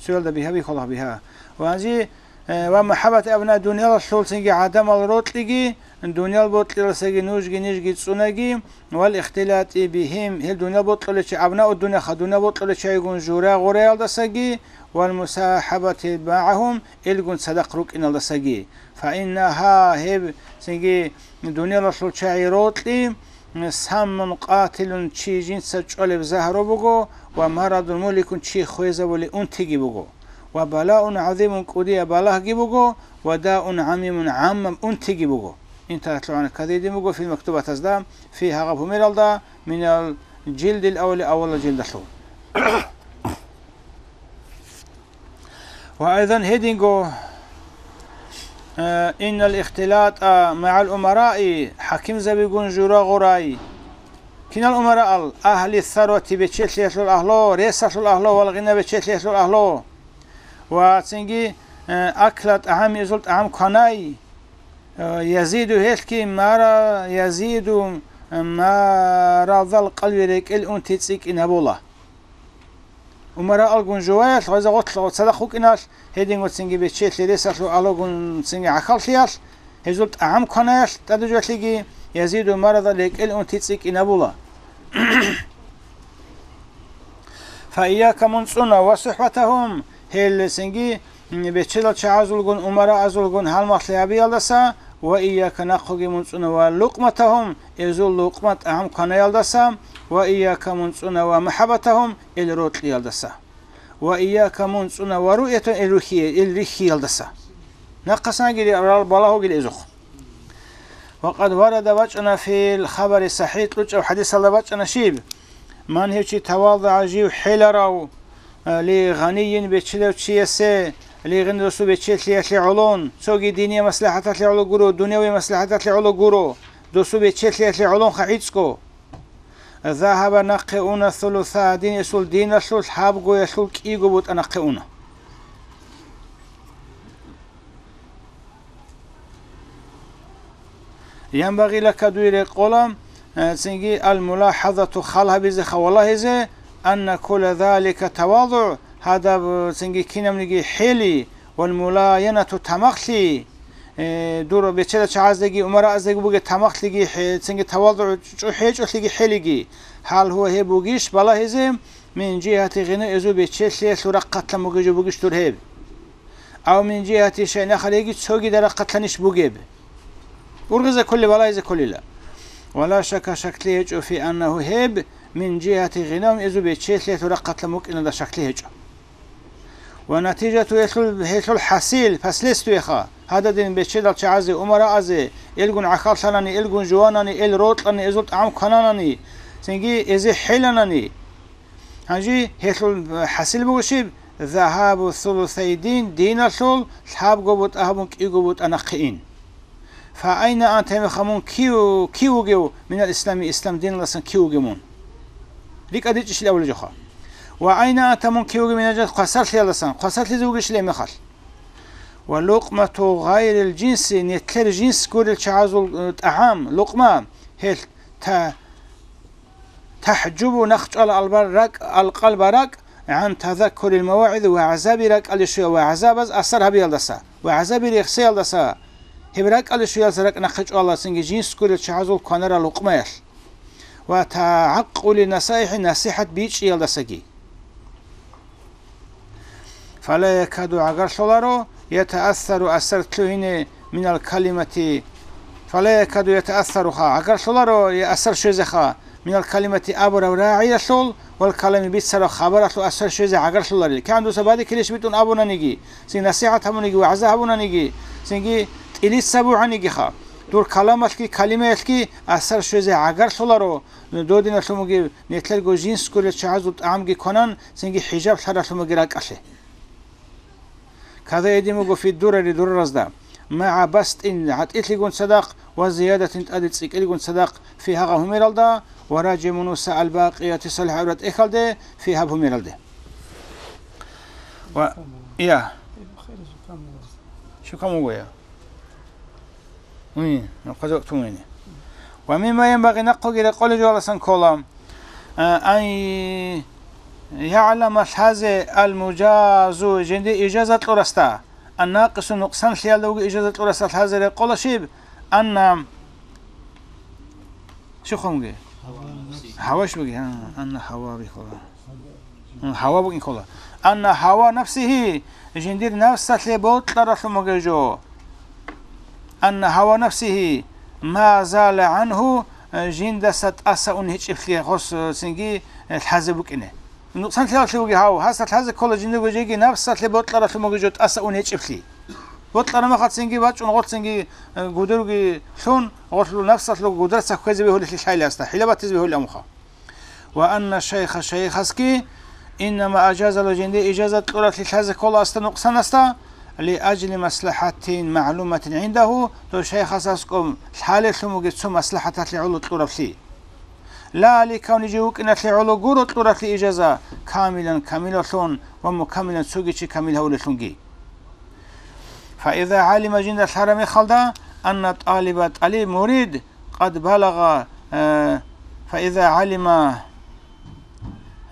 Цоялда бигьа бихьула бигьа. Ва гьанже, э, ва махӀаббат абна, дуниялалъул цинги гӀадамал рокьиги, дуниял бокьиялдасаги нужги нижги цӀунаги, вал ихтилати бигьим, гьел дуниял бокьулев чи, абнау дунияха, дуниял бокьулев чийгун жура-гъураялдасаги, вал мусахӀабати магӀагьум, илгун цадахъ рукӀиналдасаги. Фаиннагьа, гьеб цинги дуниялалъул чагӀи рокьи, саммун къатилун, чи жинца чӀвалеб загьру буго, ва марадун мугьликун, чи хвезабулеб унтиги буго. Ва балаун гӀазимун, кӀудияб балагьги буго, ва даун гӀамимун, гӀаммаб унтиги буго. ИнтахалъугӀана кадидин буго фил мактубатазда, фи гьагъаб гьумералда, минал жилдил аввали, аввалал жилдалъул. Ва айзан гьединго, э, иннал ихтилатӀа магӀал умараи, хӀакимзабигун жура гъурай. Кинал умараал? Агьли сарвати, бечелъиялъул агьлу, ресалъул агьлу, вал гъина, бечелъиялъул агьлу. Ва цинги, э, акла тӀагӀами, изул тӀагӀам кванай. Э, язиду гьелъги мара, язиду марадал къалби, рекӀел унти цӀикӀкӀинабула. Умараалгун жуваялъ, гъаза гъотлъ цадахъ вукӀиналъ, гьединго цинги бечелъи ресалъул агьлугун цинги гӀахьаллъиялъ, гьезул тӀагӀам кванаялъ тӀадужалъиги, язиду марадал, рекӀел унти цӀикӀкӀинабула. Фа ияка, мун цӀуна, ва сухӀбатагьум, гьел цинги бечедал чагӀазулгун, умараазулгун гьалмагълъи гьабиялдаса, ва ияка, нахъуги мун цӀуна, ва лукъматагьум, эзул лукъма тӀагӀам кванаялдаса, ва ияка, мун цӀуна, ва махӀаббатагьум, ил рокьиялдаса, ва ияка, мун цӀуна, ва руъятагьум, ил рухьие-, ил рихьиялдаса. Нахъасанги рал балагьугил эзухъ. Ва къад варада, бачӀана, фил хабари сахӀихӀ, кьучӀаб хӀадисалда бачӀана щиб? Ман, гьев чи, тавалдагӀа, жив хӀеларав, э, ли гъанийин, бечедав чиясе, ли гъин, досу бечелъиялъе гӀолон, цоги диниял маслахӀаталъе гӀоло гуро, дунявияб маслахӀаталъе гӀоло гуро, досу бечелъиялъе гӀолонха гӀицӀго. Загьаба, нахъе уна, сулуса дин, эсул диналъул лъабгоялъул кӀиго бутӀа нахъе уна. Янбагъи лака, дуе рекъола, э, цинги, ал-мулахӀазату, хал гьабизе, хавалагьизе, анна кула залика тавазугӀ, гьадаб, э, цинги кинабниги хӀели, вал мулаянату, тамахлъи, э, дур бечедал чагӀаздеги умарааздаги бугеб тамахлъиги хӀе-, цинги тавазугӀ чӀу-, гьечӀолъиги хӀелиги, гьал гьуа гьеб бугищ балагьизе, мин жигьати гъина, эзул бечелъиялъул рахъалъан бугеб жо бугищ дур гьеб? Ав мин жигьати шайин ахар, яги цогидал рахъалъанищ бугеб? Ургъизе кколеб, балагьизе кколила. Ва ла шакка, шаклъи гьечӀо, фи аннагьу, гьеб мин жигьати гъинагьум, эзул бечелъиялъул рахъалъан букӀиналда шаклъи гьечӀо. Ва натижату, гьелъул, гьелъул хӀасил, последствияха, гьададин бечедал чагӀазе, умараазе, элгун гӀахьаллъанани, элгун жуванани, эл рокьани, эзул тӀагӀам квананани, цинги эзе хӀеланани, гьанже гьелъул хӀасил буго щиб? Загьабу сулусай дин, диналъул лъабго бутӀа гьабун кӀиго бутӀа нахъе ин. Фа айна анта, гьебмехалъ мун кив, кив вугев, минал ислами, ислам диналдасан кив вугев мун? РикӀа дичӀищил абулеб жоха. Ва айна анта, мун кив вугев, минал жаннати, хвасарлъиялдасан, хвасарлъизе вугищил гьебмехалъ? Ва лукъмату гъайрил жинси, нилъер жинс гурел чагӀазул, э, тӀагӀам, лукъма, гьелъ та-, тахӀжубу, нахъ чӀвала албар-, ракӀ, алкъалба ракӀ, гӀан тазаккурил мавагӀиз, вагӀзаби ракӀалде щвеялъ, вагӀзабаз асар гьабиялдаса, вагӀзаби рехсеялдаса, гьеб ракӀалде щвеялдаса ракӀ нахъе чӀвала цинги жинс гурел чагӀазул кванарал лукъмаялъ, ва тагӀаккули насаихӀи, насихӀат бичӀчӀиялдасаги. Фала якаду, гӀагарлъуларо, ятаассару, асар лъугьине, минал калимати. Фала якаду ятаассаруха, гӀагарлъуларо, я асар щвезеха, минал калимати, абураб рагӀиялъул, вал калами, бицараб хабаралъул асар щвезе гӀагарлъуларел. КигӀан дуца бадикилищ битӀун абунаниги, цин насихӀат гьабуниги, вагӀза гьабунаниги, цинги тӀилица бугӀанигиха, дур каламалъги калимаялъги асар щвезе гӀагарлъуларо, додиналъумаги, нилъерго жинс гурел чагӀазул тӀагӀамги кванан, цинги хӀижаблъаралъумаги ракӀалъе. Када гьедин буго фи дурари, дураразда, магӀа бастӀин, гӀатӀилъигун цадахъ, ва зиядатин, тӀаде цӀикӀкӀилгун цадахъ, фи, гьагъа гьумералда, ва ражи мунуса албакъияти салихӀат, гӀураб тӀехьалде, фи, гьаб гьумералде. Ва, я. Щукам вуго, я. Уй, нахъаза вакт муни. Ва мимма янбагъи, нахъуги рекъолеб жоялдасан ккола, а, ан ягӀлама, лъазе, ал-мужазу, жинде ижаза кьурасда, ан-накъису, нукъсанлъиялда вугев ижаза кьурасда лъазе рекъола щиб? Анна, щухъ бугеб? Гьаваш бугеб, гьа, анна гьава бихьула. Гьава букӀин ккола. Анна гьава нафсигьи, жиндир нафсалъе бокьаралъун бугеб жо. Анна гьава нафсигьи ма зала гӀангьу, жиндаса тӀаса ун гьечӀеблъи гъос цинги лъазе букӀине. Нукъсанлъиялъе вуги гьав, гьасда лъазе ккола жиндирго жеги напсалъе бокьаралъун бугеб жо тӀаса ун гьечӀеблъи. Бокьараб мехалцинги бачӀун гъолцинги, э, гудурги лъун, гъолъул напсалъул гударца кквезе бегьулелъи лъайли гьасда, хӀила батизе бегьулел амуха. Ва анна шайха шайхасги, иннама ажазалу жинде ижазат кьураблъи лъазе ккола гьасда нукъсанасда, ли ажли маслахӀатин магӀлуматин гӀиндагьу, дов шайхас аскӀоб лъалелъун бугеб цо маслахӀаталъе гӀоло кьураблъи. Ла ликавни жив вукӀиналъе гӀоло гуро кьураблъи ижаза, камилан камилалъун ва мукаммилан цоги чи камил гьавулелъунги. Фаиза гӀалима жинда лъараб мехалда, анна тӀалиба тӀалиб мурид къад балагъа, э, фаиза гӀалима,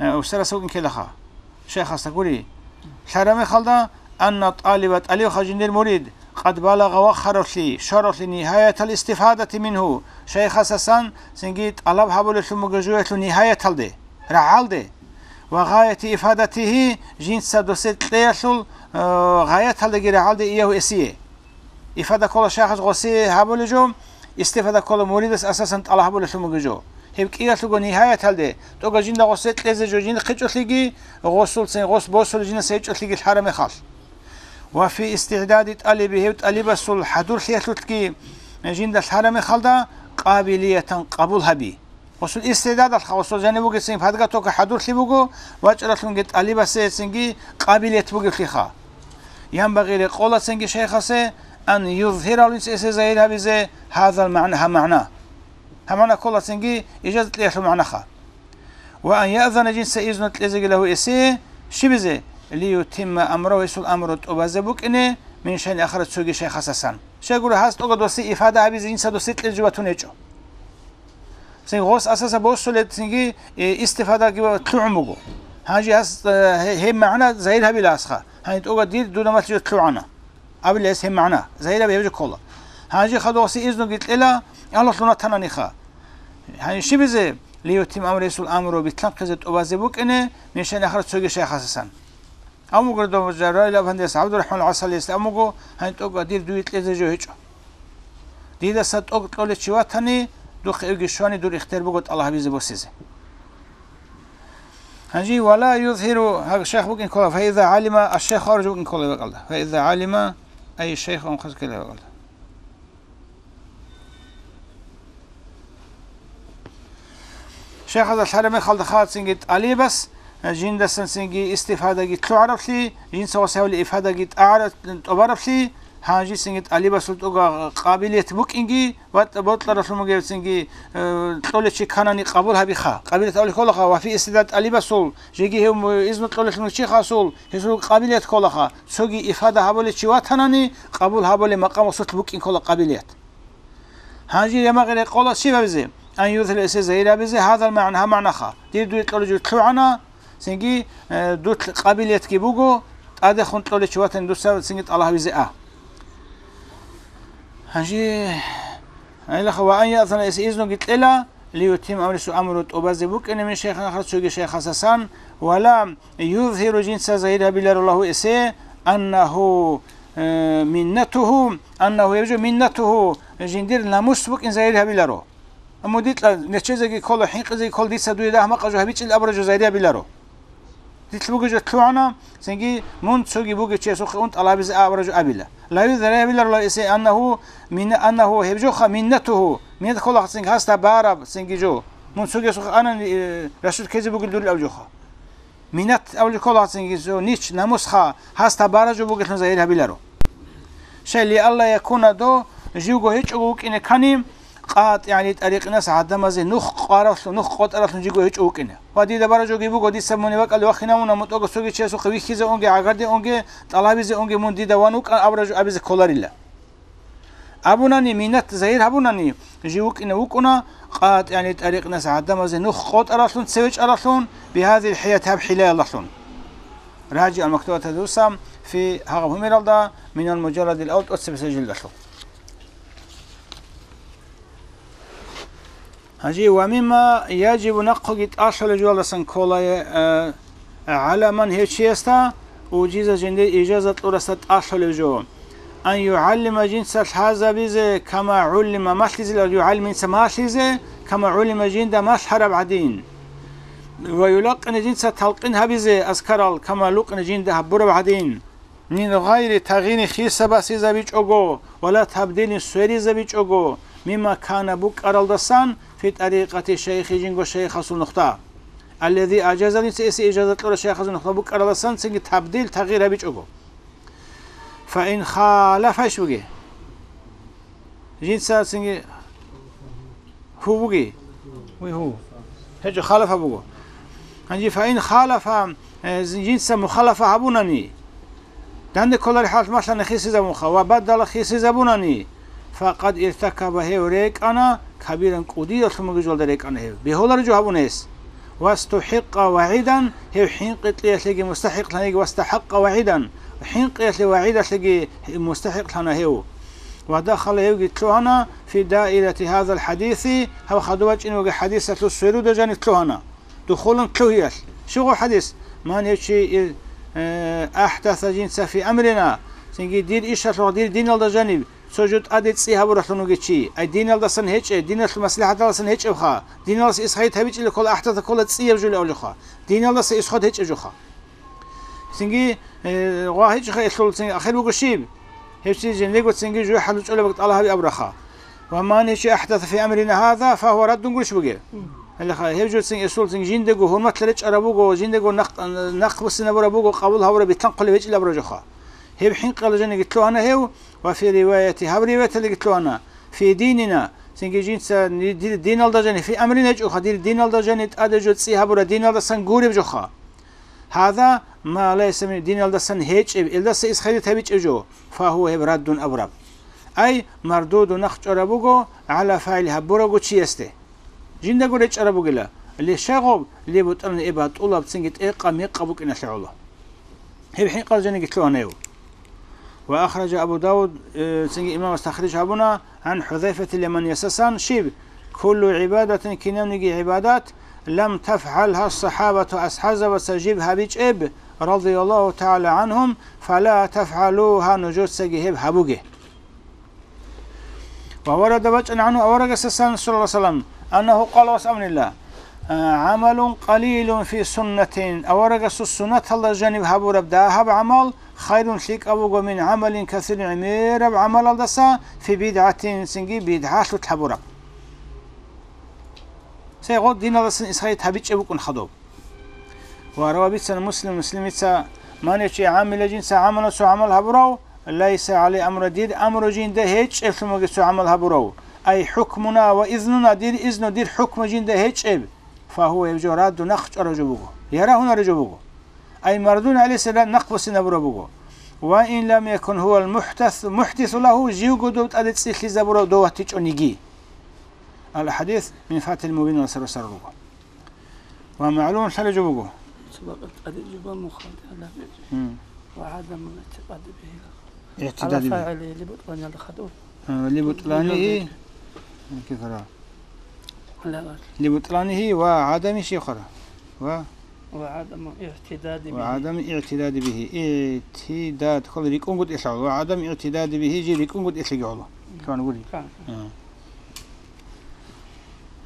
э, усараса вукӀин ккелаха. Шайхасда гури. Лъараб мехалда, анна тӀалиба тӀалибха жиндир мурид, къад балагъа вахъаравлъи, щваравлъи нигьаятал истифадати мингьу, шайхасасан цинги тӀалаб гьабулелъун буго жуялъул нигьаяталде, рагӀалде, ва гъаяти ифадатигьи, жинца досе кьеялъул, э, гъаяталдаги рагӀалде иягьу эсие. Ифада ккола шайхас гъосие гьабулеб жо, истифада ккола муридас асасан тӀалаб гьабулелъун бугеб жо. Гьеб кӀиялъулго нигьаяталде, тӀога жинда гъосие кьезе жо жиндихъе чӀолъиги, гъосулцин гъос босулеб жинас гьечӀолъиги лъараб мехалъ. Ва фи истигӀдади тӀалиби, гьев тӀалибасул хӀадурлъиялъулъги жинда лъараб мехалда, къабилиятан къабул гьаби. Гъосул истигӀдадалха, гъосул жаниб бугесин подготовка хӀадурлъи буго, вачӀаралъунги тӀалибасе цинги къабилият бугеблъиха. Янбагъи рекъолацинги шайхасе, ан юзгьирал инс эсе загьир гьабизе гьазал магӀна, гьаб магӀна. Гьаб магӀна кколацинги ижазат кьеялъул магӀнаха. Ва ан яъзана жинца изну кьезеги лагьу эсее, щибизе, лиютимма амрагьу, гьесул амру тӀубазе букӀине, мин шайин ахара цоги шайхасасан. Щайгура гьас тӀога досе ифада гьабизе жинца досе кьезе жо батун гьечӀо. Цин гъос асаса босулеб цинги, э, истифадаги ва лъугӀун буго. Гьанже гьас, э, гье-, гьеб магӀна загьир гьабила асха. Гьанже тӀога дир дуда малъизе лъугӀана. Абила гьес гьеб магӀна. Загьир гьаб гьеб жо ккола. Гьанже хадугъасе изнуги кьела, Аллагьлъун ватананиха. Гьанже щибизе? Лиютим амру, гьесул амру битлъанхъизе тӀубазе букӀине, мин шайин ахара цоги шайхасасан. Амуго дов Жабраил афандияс, ГӀабдурахӀман ГӀасалиясда амуго, гьанже тӀокӀа дир дуе кьезе жо гьечӀо. Дидаса тӀокӀ кьолев чи ватани, духъе эвги щвани дур ихтияр буго тӀалаб гьабизе босизе. Гьанже вала юзгьиру, гьаб шайх букӀин ккола, фаиза гӀалима, аш-шайх аржу букӀин ккола бакӀалда. Фаиза гӀалима, ай шайх, унхъаз ккела бакӀалда. Шайхазда лъараб мехалда халацинги тӀалибас, жиндасан цинги истифадаги лъугӀараблъи, жинца гъосиявли ифадаги тӀагӀара-, тӀубараблъи, гьанжицинги тӀалибасул тӀуга къабилият букӀинги ва тӀ-, бокьаралъун бугебцинги, э, кьолев чи кканани къабул гьабиха. Къабилият абулеб кколаха, ва фи истигӀдад тӀалибасул, жеги гьев му-, изну кьолелъун чи хасул, гьесул къабилият кколаха, цоги ифада гьабулев чи ватанани, къабул гьабулеб макъам ва сулъ букӀин ккола къабилият. Гьанже ямагъи рекъола щиб гьабизе? Ан юзгьира, эсе загьир гьабизе, гьазал магӀна, гьаб магӀнаха. Дир дуе кьолев жо лъугӀана, цинги, э, дур къабилиятги буго, тӀадехун кьолев чи ватани дуца цинги тӀалаб гьабизе а. Гьанже, гьайлаха, ва ан яъзана, эсе изнуги кьела, лиютим амрису, амру тӀубазе букӀине мин шайхин ахар, цоги шайхасасан, вала юзгьиру, жинца загьир гьабиларо, лагьу, эсе, аннагьу, э, миннатугьу, аннагьу, гьеб жо миннатугьу, жиндир намус букӀин загьир гьабиларо. Амма дикьа нечезеги ккола, хӀинкъизеги ккола, дица дуе дагь-макъа жо гьабичӀел абура жо загьир гьабиларо. Дилъ бугеб жо лъугӀана, цинги мун цоги бугев чиясухъе ун тӀалабизе абура жо абила. Ла юзгьиру, загьир гьабиларо, лагьу, эсе, аннагьу мин-, аннагьу, гьеб жоха миннатугьу, миннат кколаха цинги гьасда бараб цинги жо. Мун цогиясухъе анани, э, рашид ккезе бугел дурил аб жоха. Минат абулеб кколаха цинги цо нич, намусха, гьасда бараб жо бугелъун загьир гьабиларо. Шай, лиалла якуна, до живго гьечӀого вукӀине ккани, къатӀигӀани тӀарикъинас гӀадамазе нух къваралъу-, нух къотӀаралъун живго гьечӀо вукӀине. Ва дида бараб жоги буго, дица мун вакӀалде вахинавуна, мутӀого цоги чиясухъе вихьизе унге, гӀагардезе унге, тӀалабизе унге, мун дида ван вукӀан абура жо абизе кколарила. Абунани, минат загьир гьабунани, жив вукӀине вукӀуна, къатӀигӀани тӀарикъинас гӀадамазе нух къотӀаралъун, цеве чӀаралъун, бигьадил хӀият, гьаб хӀилаялдалъун. РажигӀ ал-Мактубатадуса фи гьагъаб гьумералда, минал мужалладил авал тӀоцебесеб жилдалъул. Гьанже ва мимма яжибу, нахъеги тӀалъулеб жоялдасан ккола, э, гӀаламан, гьев чиясда, ужиза, жиндир ижаза кьурасда тӀалъулеб жо. Ан югӀаллима, жинца лъазабизе, кама гӀуллима, малъизе, югӀаллима, жинца малъизе, кама гӀуллима, жинда малъараб гӀадин. Ва юлакъина жинца талкъин гьабизе азкарал, кама лукъина жинда гьабураб гӀадин, мин гъайри тагъини хисабасизабичӀого, вала табдилин сверизабичӀого, мимма кана букӀаралдасан, фи тӀарикъати шайхи жинго шайхасул нухда. Аллази ажаза, жинца эсе ижаза кьурав шайхасул нухда букӀаралдасан цинги табдил тагъир гьабичӀого. Фаин халафа иш буги. Жинца цинги гьу буги. Уй гьу. ГьечӀо халафа буго. Гьанже фаин халафа, э, жинца мухалафа гьабунани, данде кколареб хӀалат малъана хисизабунха ва баддала хисизабунани, факъад иртакаба, гьев рекӀана, кабиран, кӀудияб лъумаги жолда рекӀана гьев. Бегьуларо жо гьабуна гьес. ВастухӀикъа вагӀидан, гьев хӀинкъи кьеялъеги мустахӀикълъаниги, вастахӀакъа вагӀидан, хӀинкъиялъе вагӀидалъеги мустахӀикълъана гьев. Ва дахала, гьевги лъугьана, фи даирати гьазал хӀадиси, гьаб хадув вачӀине вугеб хӀадисалъул сверуда жаниб лъугьана. Духулан лъугьиялъ. Щуго хӀадис? Ман гьев чи, э, ахӀдаса жинца фи амрина, цинги дир ишалъухъ, дир диналда жаниб, цо жо тӀаде цӀи гьабуралъун вугев чи, ай диналдасан гьечӀеб, диналъул маслихӀаталдасан гьечӀебха, диналдаса исхайит гьабичӀила ккола, ахӀдаса ккола цӀияб жо абулебха, диналдаса исход гьечӀеб жоха. Цинги, э, гъва гьечӀеха, гьелъул цинги ахир буго щиб? Гьев чи жиндего цинги жуй хӀалучӀолеб бакӀ тӀалаб гьаби абураха. Ва ман гьев чи ахӀдаса фи амрина гьаза, фагьува раддун гурищ бугеб? Гьелеха, гьев жо цинги гьесул цинги жиндего гьурматлъи речӀараб буго, жиндего нахъ-, нахъбуссинабураб буго, къабул гьабураб битлъанхъулеб гьечӀилабураб жоха. Гьеб хӀинкъиялда жаниги лъугьана гьев, ва фи риваяти, гьаб риваяталдаги лъугьана, фи динина, цинги жинца ни-, дир диналда жани, фи амрина гьечӀоха, дир диналда жани тӀаде жо цӀи гьабура диналдасан гуреб жоха. Гьаза ма лайса мин, диналдасан гьечӀеб, элдаса исхайит гьабичӀеб жо, фагьува, гьеб раддун абураб. Ай, мардуду, нахъ чӀвараб буго, гӀала фагӀили, гьабурабго чиясде. Жиндаго речӀараб бугила, лишагъуб, лебутӀан, эб батӀулаб, цинги тӀекъа-мекъа букӀиналъе гӀоло. Гьеб хӀинкъал жаниги лъугьана гьев. Ва ахража Абу Давуд, э, цинги имамас тахриж гьабуна, гӀан ХӀузайфати, леман ясасан, щиб? Куллу гӀибадатин, кинабниги гӀибадат, лам тафгӀалгьа сахабату, асхӀабзабаца жиб гьабичӀеб, радияллагьу тагӀала гӀанхум, фала тафгӀалугьа, нужецаги гьеб гьабуге. Ва варада, бачӀана гӀанху аварагасдасан, саллаллагьу гӀалайгьи ва саллам, аннагьу къала, ас абунила, а, гӀамалун къалилун фи суннатин, аварагасул суннаталда жаниб гьабураб дагьаб гӀамал хайрун, лъикӀаб буго, мин гӀамалин касирин, гӀемераб гӀамалалдаса, фи бидгӀатин, цинги бидгӀалъулъ гьабураб. Цей гъо диналдасан исхайит гьабичӀеб букӀун хадуб. Ва рава бицана Муслим, Муслимица, ман гьев чи гӀамила, жинца гӀамала цо гӀамал гьабурав, лайса гӀалайгьи амруна, дир амру жинда гьечӀеблъун бугеб цо гӀамал гьабурав, ай хӀукмуна ва изнуна, дир изну, дир хӀукму жинда гьечӀеб, фагьува, гьев жо радду, нахъ чӀварав жо буго, я рагьунарев жо буго. Ай мардуд гӀалайгьиссалам нахъбуссинабураб буго. Ва ин лам якун гьувал мухӀдас-, мухӀдису лагьу, живго дов тӀаде цӀи лъизабурав дов ватичӀониги. Ал-хӀадис мин Фатхил Мубин ва сарру-сарру руго. Ва магӀлум лъалеб жо буго. Цо бакъ тӀаде жо буго мухалиф гьабизе. М. Ва гӀадамул игӀтикъади бигьи. ИгӀтидади бигьи. Гьала фагӀили либутӀланиялда хадур. А, либутӀланигьи. Кифара. Ла. ЛибутӀланигьи ва гӀадами шихара. Ва? Ва гӀадамул игӀтидади бигьи. Ва гӀадами игӀтидади бигьи. ИгӀтидад, хъала рикӀкӀунгутӀилъ гӀоло. Ва гӀадами игӀтидади бигьи, жи рикӀкӀунгутӀилъиги гӀоло. Мгм. Кан гури? Кан. А.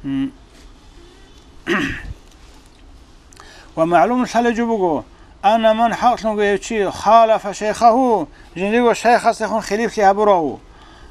М. Ва магӀлум лъалеб жо буго, анна ман, хӀакълъунго гьев чи, халафа шайхагьу, жиндирго шайхасдехун хилиплъи гьабурав,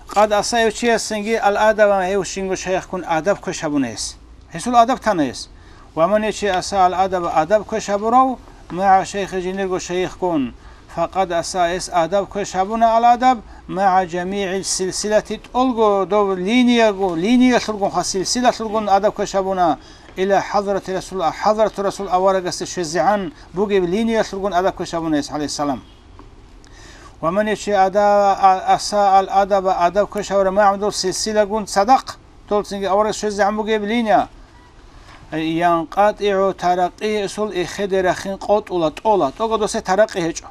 къад аса, гьев чиясцинги, ал-адаб, гьев щинго шайхгун адаб квеш гьабуна гьес. Гьесул адаб тана гьес. Ва ман, гьев чи, аса ал-адаб, адаб квеш гьабурав, магӀа шайхи, жиндирго шайхгун, факъад аса, гьес адаб квеш гьабуна, ал-адаб, магӀа жамигӀил силсилати, тӀолго дов линияго, линиялъулгун, ха, силсилалъулгун адаб квеш гьабуна, иля хӀазрати Расул, хӀазрату Расул аварагасде щвезегӀан бугеб линиялъулгун адаб квеш гьабуна гьес, гӀалайгьиссалам. Ва ман, гьев чи, ада-, а-, аса ал-адаба, адаб квеш гьавурав магӀа дов силсилагун цадахъ, дол цинги аварагасде щвезегӀан бугеб линия, янкъатӀигӀу таракъи, гьесул эхеде рахин къотӀула, тӀола, тӀого досде таракъи гьечӀо.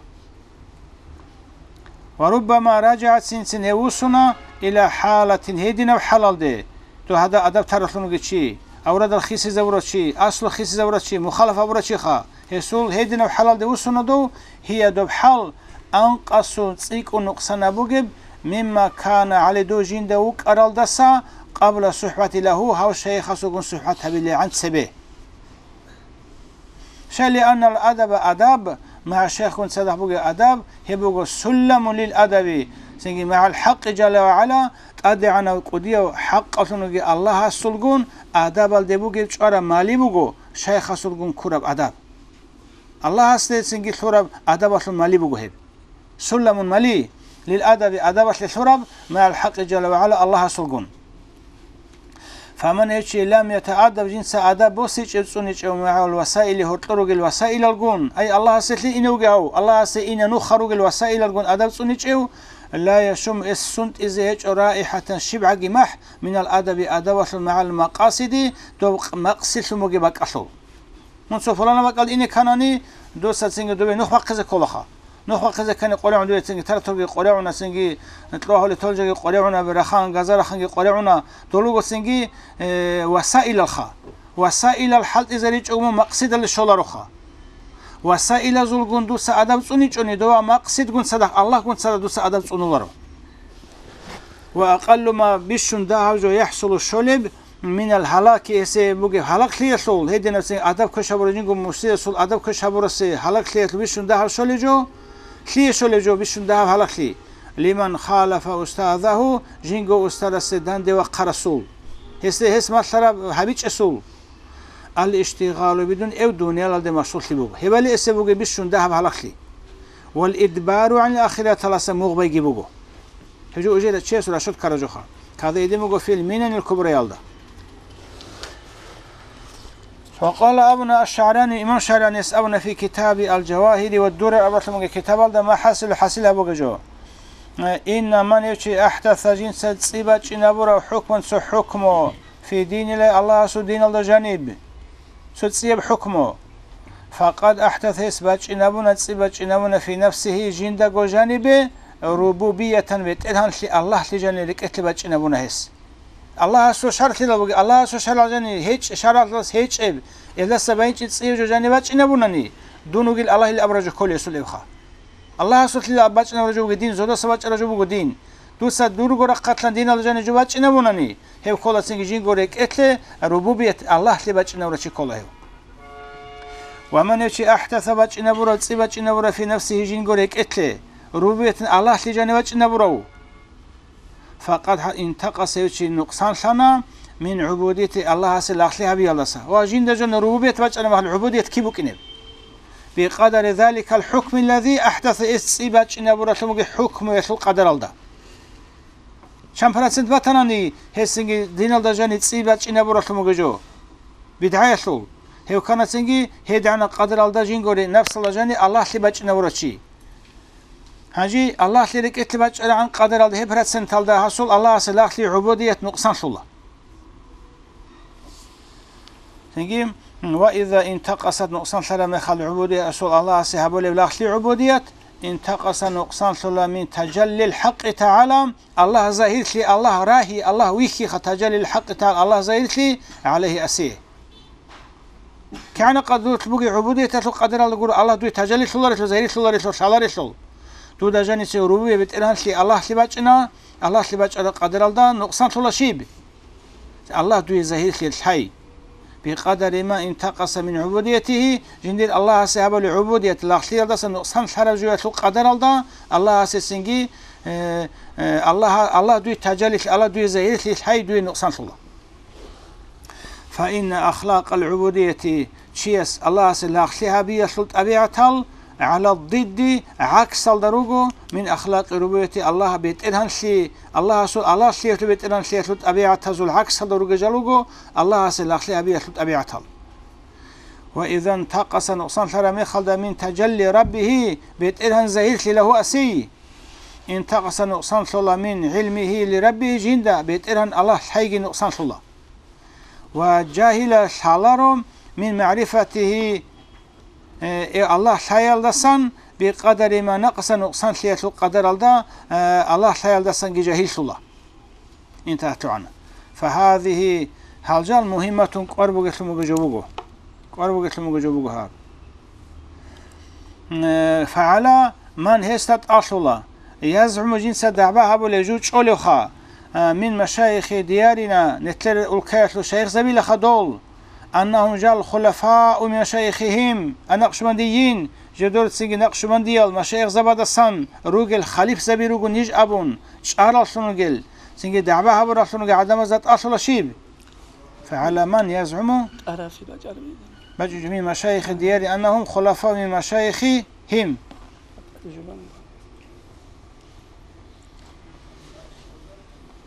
Ва руббама ражагӀа, цин-цин гьев вуссуна, иля хӀалатин, гьединаб хӀалалде, дов гьадаб адаб таралъун вугев чи, аврадал хисизавурав чи, аслу хисизавурав чи, мухалаф гьабурав чиха, гьесул гьединаб хӀалалде вуссуна дов, гьия, доб хӀал, анкъасу, цӀикӀкӀун нукъсанаб бугеб, мимма кана гӀалайгьи, дов жинда вукӀаралдаса, къабла сухӀбати лагьу, гьав шайхасулгун сухӀбат гьабилегӀан цебе. Щай, лианнал адаба, адаб, магӀа шайхгун цадахъ бугеб адаб, гьеб буго сулламун лил адаби, цинги магӀал хӀакъи жалла ва гӀала, ТӀадегӀанав кӀудияв хӀакъалъун вугев Аллагьасулгун адабалде бугеб чӀвараб мали буго, шайхасулгун ккураб адаб. Аллагьасде цинги лъураб адабалъул мали буго гьеб. Сулламун мали, лил адаби, адабалъе лъураб, магӀал хӀакъи жалла ва гӀала, Аллагьасулгун. Фаман, гьев чи, лам ятагӀаддаб, жинца адаб босичӀев, цӀуничӀев, магӀал васаили, гьоркьор ругел васаилалгун, ай Аллагьасе лъи иневги гьав, Аллагьасе ина нуха ругел васаилалгун адаб цӀуничӀев, ла яшумму, эс сунтӀизе гьечӀо, раихӀатан, щибгӀаги махӀ, минал адаби, адабалъул, магӀал макъасиди, доб къ-, макъсидлъун бугеб бакӀалъул. Мун цо пуланаб бакӀалде ине кканани, дуца цинги добе нух бахъизе кколаха. Нух бахъизе ккани къваригӀуна дуе цинги тракторги къваригӀуна, цинги кьогьали толжаги къваригӀуна, рахан, газа раханги къваригӀуна, дол руго цинги, э, васаилалха. Васаилал хӀалтӀизаричӀого мун макъсидалде щолароха. Васаилазулгун дуца адаб цӀуничӀони, дова макъсидгун цадахъ, Аллагьгун цадахъ дуца адаб цӀунуларо. Ва акъаллу ма, бищун дагьаб жо, яхӀсулу, щолеб, минал гьалаки, гьесие бугеб гьалаглъиялъул, гьединабцин адаб квеш гьабурав жинго мурсиясул адаб квеш гьабурасе гьалаглъиялъул бищун дагьаб щолеб жо, лъие щолеб жо бищун дагьаб гьалаглъи, лиман халафа устазагьу, жинго устарасе данде вахъарасул, гьесде гьес малъараб гьабичӀесул, ал-иштигъалу бидун, эв дуниялалде машгъуллъи буго. Гьебали эсе бугеб бищун дагьаб гьалаглъи. Вал идбару гӀанил ахираталаса мугъ байги буго. Гьеб жо уже чиясул рашад ккараб жоха. Кагъда гьедин буго фил Минанил Кубраялда. Ва къала абуна аш-ШагӀрани, имам ШагӀранияс абуна фи китаби Ал-Жавагьири ва Дурар абуралъун бугеб китабалда, ма хӀасилу, хӀасил гьабуге жо. Инна ман, гьев чи, ахӀдаса, жинца цӀи бачӀинабурав, хӀукман, цо хӀукму, фи диниллагьи, Аллагьасул диналда жаниб. Цо цӀияб хӀукму. Факъад ахӀдаса, гьес бачӀинабуна, цӀи бачӀинабуна, фи нафсигьи, жиндаго жанибе, рубубиятан, бетӀергьанлъи, Аллагьлъи жаниб рекӀелъе бачӀинабуна гьес. Аллагьасул шаргӀлъила бугеб, Аллагьасул шаргӀал жаниб гьечӀ-, шаргӀалдас гьечӀеб, гьелдаса байинчӀеб цӀияб жо жаниб бачӀинабунани, дун вугил Аллагьил абураб жо кколеб гьесул эбха. Аллагьасулъила бачӀинабураб жо буго дин, зодаса бачӀараб жо буго дин. Дуца дурго рахъалъан диналда жаниб жо бачӀинабунани, гьеб ккола цинги жинго рекӀелъе, рубубият, Аллагьлъи бачӀинабурав чи ккола гьев. Ва ман, гьев чи, ахӀдаса, бачӀинабурав, цӀи бачӀинабурав, фи нафсигьи, жинго рекӀелъе, рубубиятан, Аллагьлъи жаниб бачӀинабурав. Факъад, гьа, интакъаса, гьев чи нукъсанлъана, мин гӀубудияти, Аллагьасе лагълъи гьабиялдаса. Ва жинда жаниб рубубият бачӀана, гьал гӀубудият киб букӀинеб? Бикъадари заликал хӀукмиллади ахӀдаса, эс цӀи бачӀинабуралъун бугеб хӀукмуялъул къадаралда. Чан процент батанани, гьесинги диналда жаниб цӀи бачӀинабуралъун бугеб жо? БидгӀаялъул. Гьев кканацинги, гьедигӀанаб къадаралда жинго ре-, напсалда жаниб Аллагьлъи бачӀинабурав чи. Гьанже Аллагьлъи рекӀелъе бачӀарагӀан къадаралда гьеб проценталда гьасул Аллагьасе лагълъи гӀубудият нукъсанлъула. Цинги, ва иза интакъасат, нукъсанлъараб мехалда гӀубудият, асул Аллагьасе гьабулеб лагълъи гӀубудият, интакъаса, нукъсанлъула мин тажаллил хӀакъи тагӀала, Аллагь загьирлъи, Аллагь рагьи, Аллагь вихьиха, тажаллил хӀакъи тагӀала, Аллагь загьирлъи гӀалайгьи, асие. КигӀанаб къадаралъ бугеб гӀубудияталъул къадаралда гуро, Аллагь дуе тажаллилъуларелъул, загьирлъуларелъул, лъаларелъул. Дуда жанисе рубубияб бетӀергьанлъи Аллагьлъи бачӀина, Аллагьлъи бачӀараб къадаралда нукъсанлъула щиб? Аллагь дуе загьирлъи лъай. Бикъадари ма интакъаса мин гӀубудиятигьи, жиндир Аллагьасе гьабулеб гӀубудият лагълъиялдаса нукъсанлъараб жоялъул къадаралда, Аллагьасе цинги, э, э, Аллагь, Аллагь дуе тажаллилъи, Аллагь дуе загьирлъи лъай дуе нукъсанлъула. Фаинна ахлакъал гӀубудияти, чияс Аллагьасе лагълъи гьабиялъул тӀабигӀатал, гӀалал дидди, гӀаксалда руго, мин ахлакъи рубубияти, Аллагь бетӀергьанлъи, Аллагьасул Аллагьлъиялъул бетӀергьанлъиялъул тӀабигӀатазул гӀаксалда ругел жал руго Аллагьасе лагълъи гьабиялъул тӀабигӀатал. Ва иза нтакъаса, нукъсанлъараб мехалда, мин тажалли раббигьи, бетӀергьан загьирлъи лагьу, асий, интакъаса, нукъсанлъула мин гӀилмигьи ли раббигьи, жинда бетӀергьан Аллагь лъайги нукъсанлъула. Ва жагьила, лъаларо, мин магӀрифатигьи, э, э, Аллагь лъаялдасан, бикъадари ма накъса, нукъсанлъиялъул къадаралда, э, Аллагь лъаялдасанги жагьиллъула. ИнтагьатугӀана. Фагьазигьи, гьал жал мугьимматун, кӀвар бугелъун буго жо буго. КӀвар бугелъун буго жо буго гьаб. Э, фагӀала ман, гьесда тӀалъула, язгӀуму, жинца дагӀба гьабулев жо чӀолевха, э, мин машайихи диярина, нилъер улкаялъул шайихзабилаха дол, аннагьум жал хулафау мин машайихихим, а накъшбандийин, жодорцинги накъшбандиял машайихзабадасан ругел халифзаби руго ниж абун, чӀараллъун ругел, цинги дагӀба гьабураллъун ругел гӀадамаз тӀалъула щиб? Фагьала ман язгӀуму, тӀарафи бачӀараб. БачӀунчӀо мин машайихи дияри аннагьум хулафау мин машайихихим.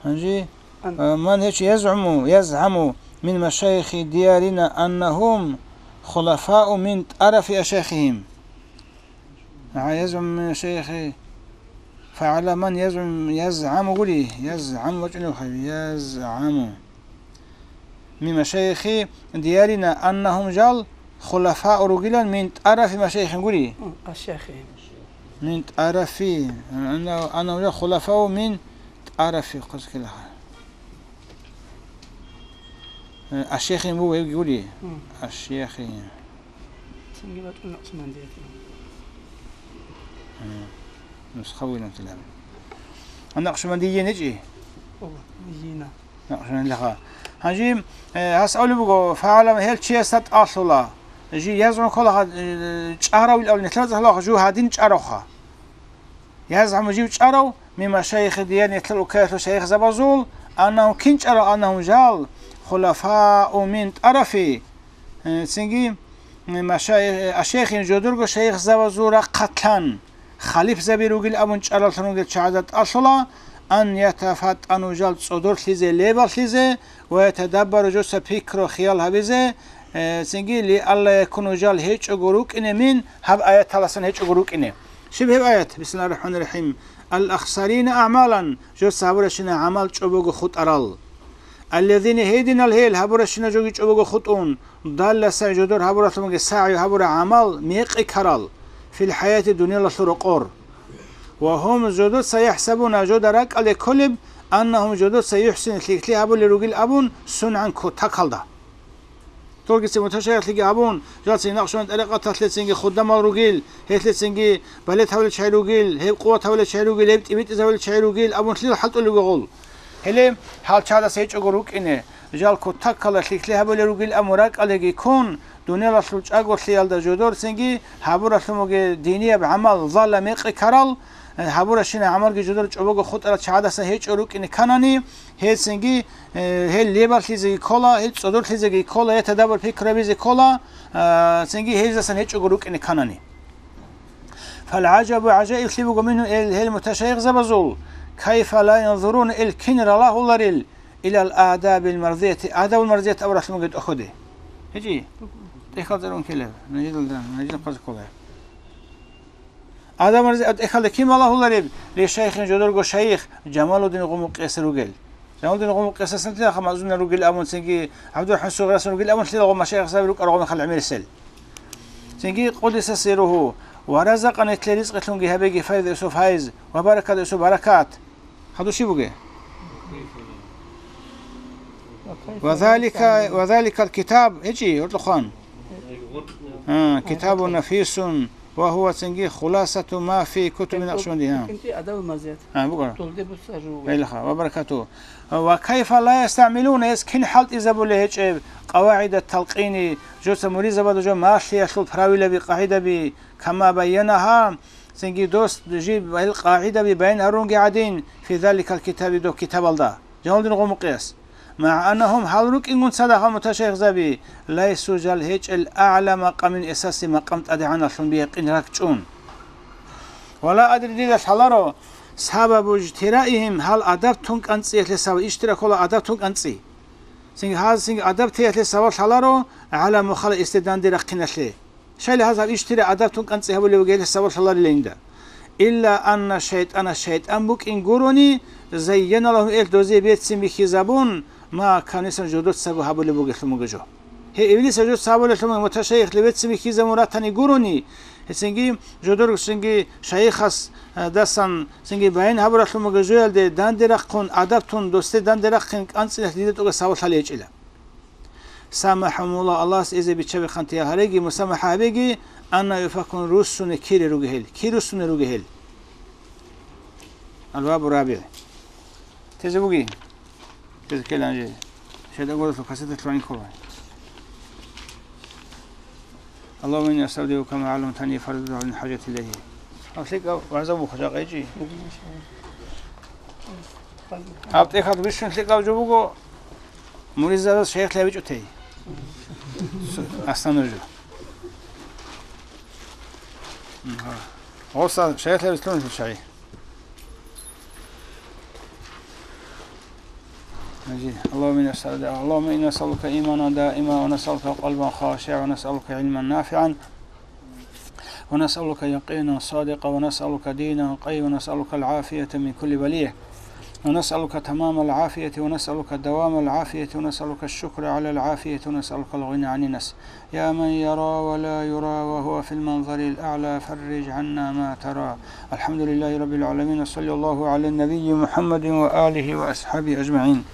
Гьанже, ан- а, ман гьечӀо язгӀуму, язгӀаму мин машайихи диярина аннагьум хулафау мин тӀарафи ашайихихим. А, язгӀуму мин машайихи, фагьала ман язгӀум, язгӀаму гури, язгӀаму бачӀунеб хай, язгӀаму. Мин машайихи диярина аннагьум жал хулафау ругилан мин тӀарафи машайихин гури. М, ашайихи. Мин тӀарафи. Анна-, аннагьум жал хулафау мин тӀарафи. Хъузкилаха. Э, ашайихин буго гьебги гури. М. Ашайихин. Цинги бачӀун накъшбандиятилан. Э, нусха вугилан тилан. А накъшбандийин гьечӀи? Ого, йина. Гьанже, э, гьас абулеб буго, фагьалам гьел чиясда тӀалъула. Жи язгӀун ккола, э, чӀаравил абуни, нилъер цӀалъула жу гьадин чӀаравха. ЯзгӀаму жив чӀарав, мин машайихи дияр нилъер улкаялъул шайихзабазул, аннагьум кин чӀарав, аннагьум жал, хулафау мин тӀарафи, э, цинги, э, машайих-, э, ашайихин жодорго шайихзабазул рахъалъан. Халифзаби ругил абун чӀараллъун ругел чагӀазда тӀалъула, ан ятафаттану жал цӀодорлъизе, лебаллъизе, ва ятадаббару жоса пикру хиял гьабизе, э, цинги ли алла якуну жал гьечӀого рукӀине мин гьаб аяталасан гьечӀого рукӀине. Щиб гьеб аят? Бисмиллагьир рахӀманир рахӀим. Ал-ахсарина аъмалан, жоса гьабуращина гӀамал чӀобого хутӀарал. Аллазина гьединал гьел гьабуращина жоги чӀобого хутӀун, далла сай жодор гьабуралъумаги сагӀи гьабура гӀамал мекъи ккарал, фил хӀаяти дуниялалъул рокъор. Ва гьум жодоца яхӀсабуна жода ракӀалде кколеб, аннагьум жодоца юхӀсин лъикӀлъи гьабулел ругил абун сунагӀан кутакалда. Долгицин муташайихлъиги абун, жалцин накъшбан тӀарикъаталъецинги худамал ругил, гьелъецинги балет гьавилел чагӀи ругил, гьеб къуват гьавилел чагӀи ругил, гьеб тӀибитӀиз гьавилел чагӀи ругил абун лъил хӀалтӀулеб гъол. Гьеле гьал чагӀдаса гьечӀого рукӀине, жал кутаккала лъикӀлъи гьабулел ругил абун ракӀалдеги ккун, дуниялалъул чӀаголъиялда жодорцинги гьабуралъумаги динияб гӀамал, залла мекъи ккарал, гьабуращина гӀамалги жодор чӀобого хутӀарал чагӀдаса гьечӀо рукӀине кканани, гьелцинги, э, гьел лебаллъизеги ккола, гьел цӀодорлъизеги ккола, гьел тадаббур пикру гьабизе ккола, а, цинги гьелдасан гьечӀого рукӀине кканани. ФалгӀажабу, гӀажаиблъи буго мингьум, эл, гьел муташайихзабазул, кайфа ла янзуруна, эл кин ралагьуларел, илал адабил марзияти, адабул марзият абуралъумаги тӀохьоде. ГьечӀи? ТӀехьалда рун ккелеб, нажидалда, нажидал хъаза кколеб. Адабул марзият тӀехьалда кин ралагьулареб? Ле шайхин жодорго шайих Жамалуддин Гъумукъияс ругел. Жамалуддин Гъумукъиясасан лъилаха мазунал ругел абун, цинги ГӀабдурахӀман Сугъриясан ругел абун лъила гъо машайихзаби рукӀарал гъо мехалъ гӀемерисел. Цинги къуддиса сирругьу, ва разакъа нилъе ризкъилъунги гьабеги файз Юсуф гьайз, ва баракат Юсуф баракат. Хадур щиб бугеб? Ва залика, ва заликал китаб, гьечӀи, гьоркьохъан. А, китабун нафисун, ва гьува цинги хуласату ма фи кутуби накъшбанди, а. КӀинтӀи адабул марзият. А, буго. Долде буссар жугьу. Гьелха, ва баракату. Ва кайфа ла ястагӀмилуна, гьес кин хӀалтӀизабулеб гьечӀеб, къавагӀидат талкъини, жоца муридзабазда жо малъиялъул правилаби, къагӀидаби, кама байянагьа, цинги дос жиб гьел къагӀидаби баян гьарунги гӀадин, фи заликал китаби, доб китабалда. Жамалуддин Гъумукъияс. МагӀанагьум, гьал рукӀингун цадахъ гьал муташайихзаби, лайсу жал гьечӀел агӀла макъамин, эсаси макъам тӀадегӀаналъун биякъин ракӀчӀун. Ва ла адри, дида лъаларо, сабабу ижтираихим, гьал адаб тун кӀанцӀиялъе сабаб, ижтира ккола адаб тун кӀанцӀи. Цинги гьаз цинги адаб теялъе сабаб лъаларо, гӀала мухала эсде данде рахъиналъе. Щайла гьаз гьаб ижтира адаб тун кӀанцӀи гьабулев вугел сабаблъаларила инда. Илла анна шайтӀана, шайтӀан букӀин гурони, зайяна лагьум, ил дозе берцин бихьизабун, ма канисан жодоцаго гьабулеб бугелъул мугежо. Гье, иблис жодоца гьабулелъул мугежо муташайихлъи берцин бихьизабун ратани гурони, гьецинги жодоргсинги шайихас, а, дасан цинги баян гьабуралъул мугежоялде данде рахъун, адаб тун досде данде рахъин кӀанцӀиналъ дида тӀуга сабаблъали гьечӀила. Самахьумула, Аллагьас эзе биччаби хъантиял гьареги, мусамахӀа гьабеги, анна юфакун руссуне кире ругел гьел, ки руссуне ругел гьел. Албабу раби. Тезе буги? Тезе ккела анже. Шайда горасул касеталъ ванихъула. اللهم إني أستودعك ما علمتني فارد علي حاجتي إليه. Гьаб лъикӀаб вагӀза буго жакъа гьечӀи. Гьаб тӀехьалда бищун лъикӀаб жо буго, муридзабаз шайихлъи гьабичӀо тей. Су-, аслан жо. Гьоса шайихлъи гьабицлъун лъучай. اللهم إنا نسأل-، اللهم إنا نسألك إيمانا دائما، ونسألك قلبا خاشعا، ونسألك علما نافعا، ونسألك يقينا صادقا، ونسألك دينا قيما، ونسألك العافية من كل بلية، ونسألك تمام العافية، ونسألك دوام العافية، ونسألك الشكر على العافية، ونسألك الغنى عن الناس. يا من يرى ولا يرى وهو في المنظر الأعلى، فرج عنا ما ترى. الحمد لله رب العالمين، وصلى الله على النبي محمد وآله وأصحابه أجمعين.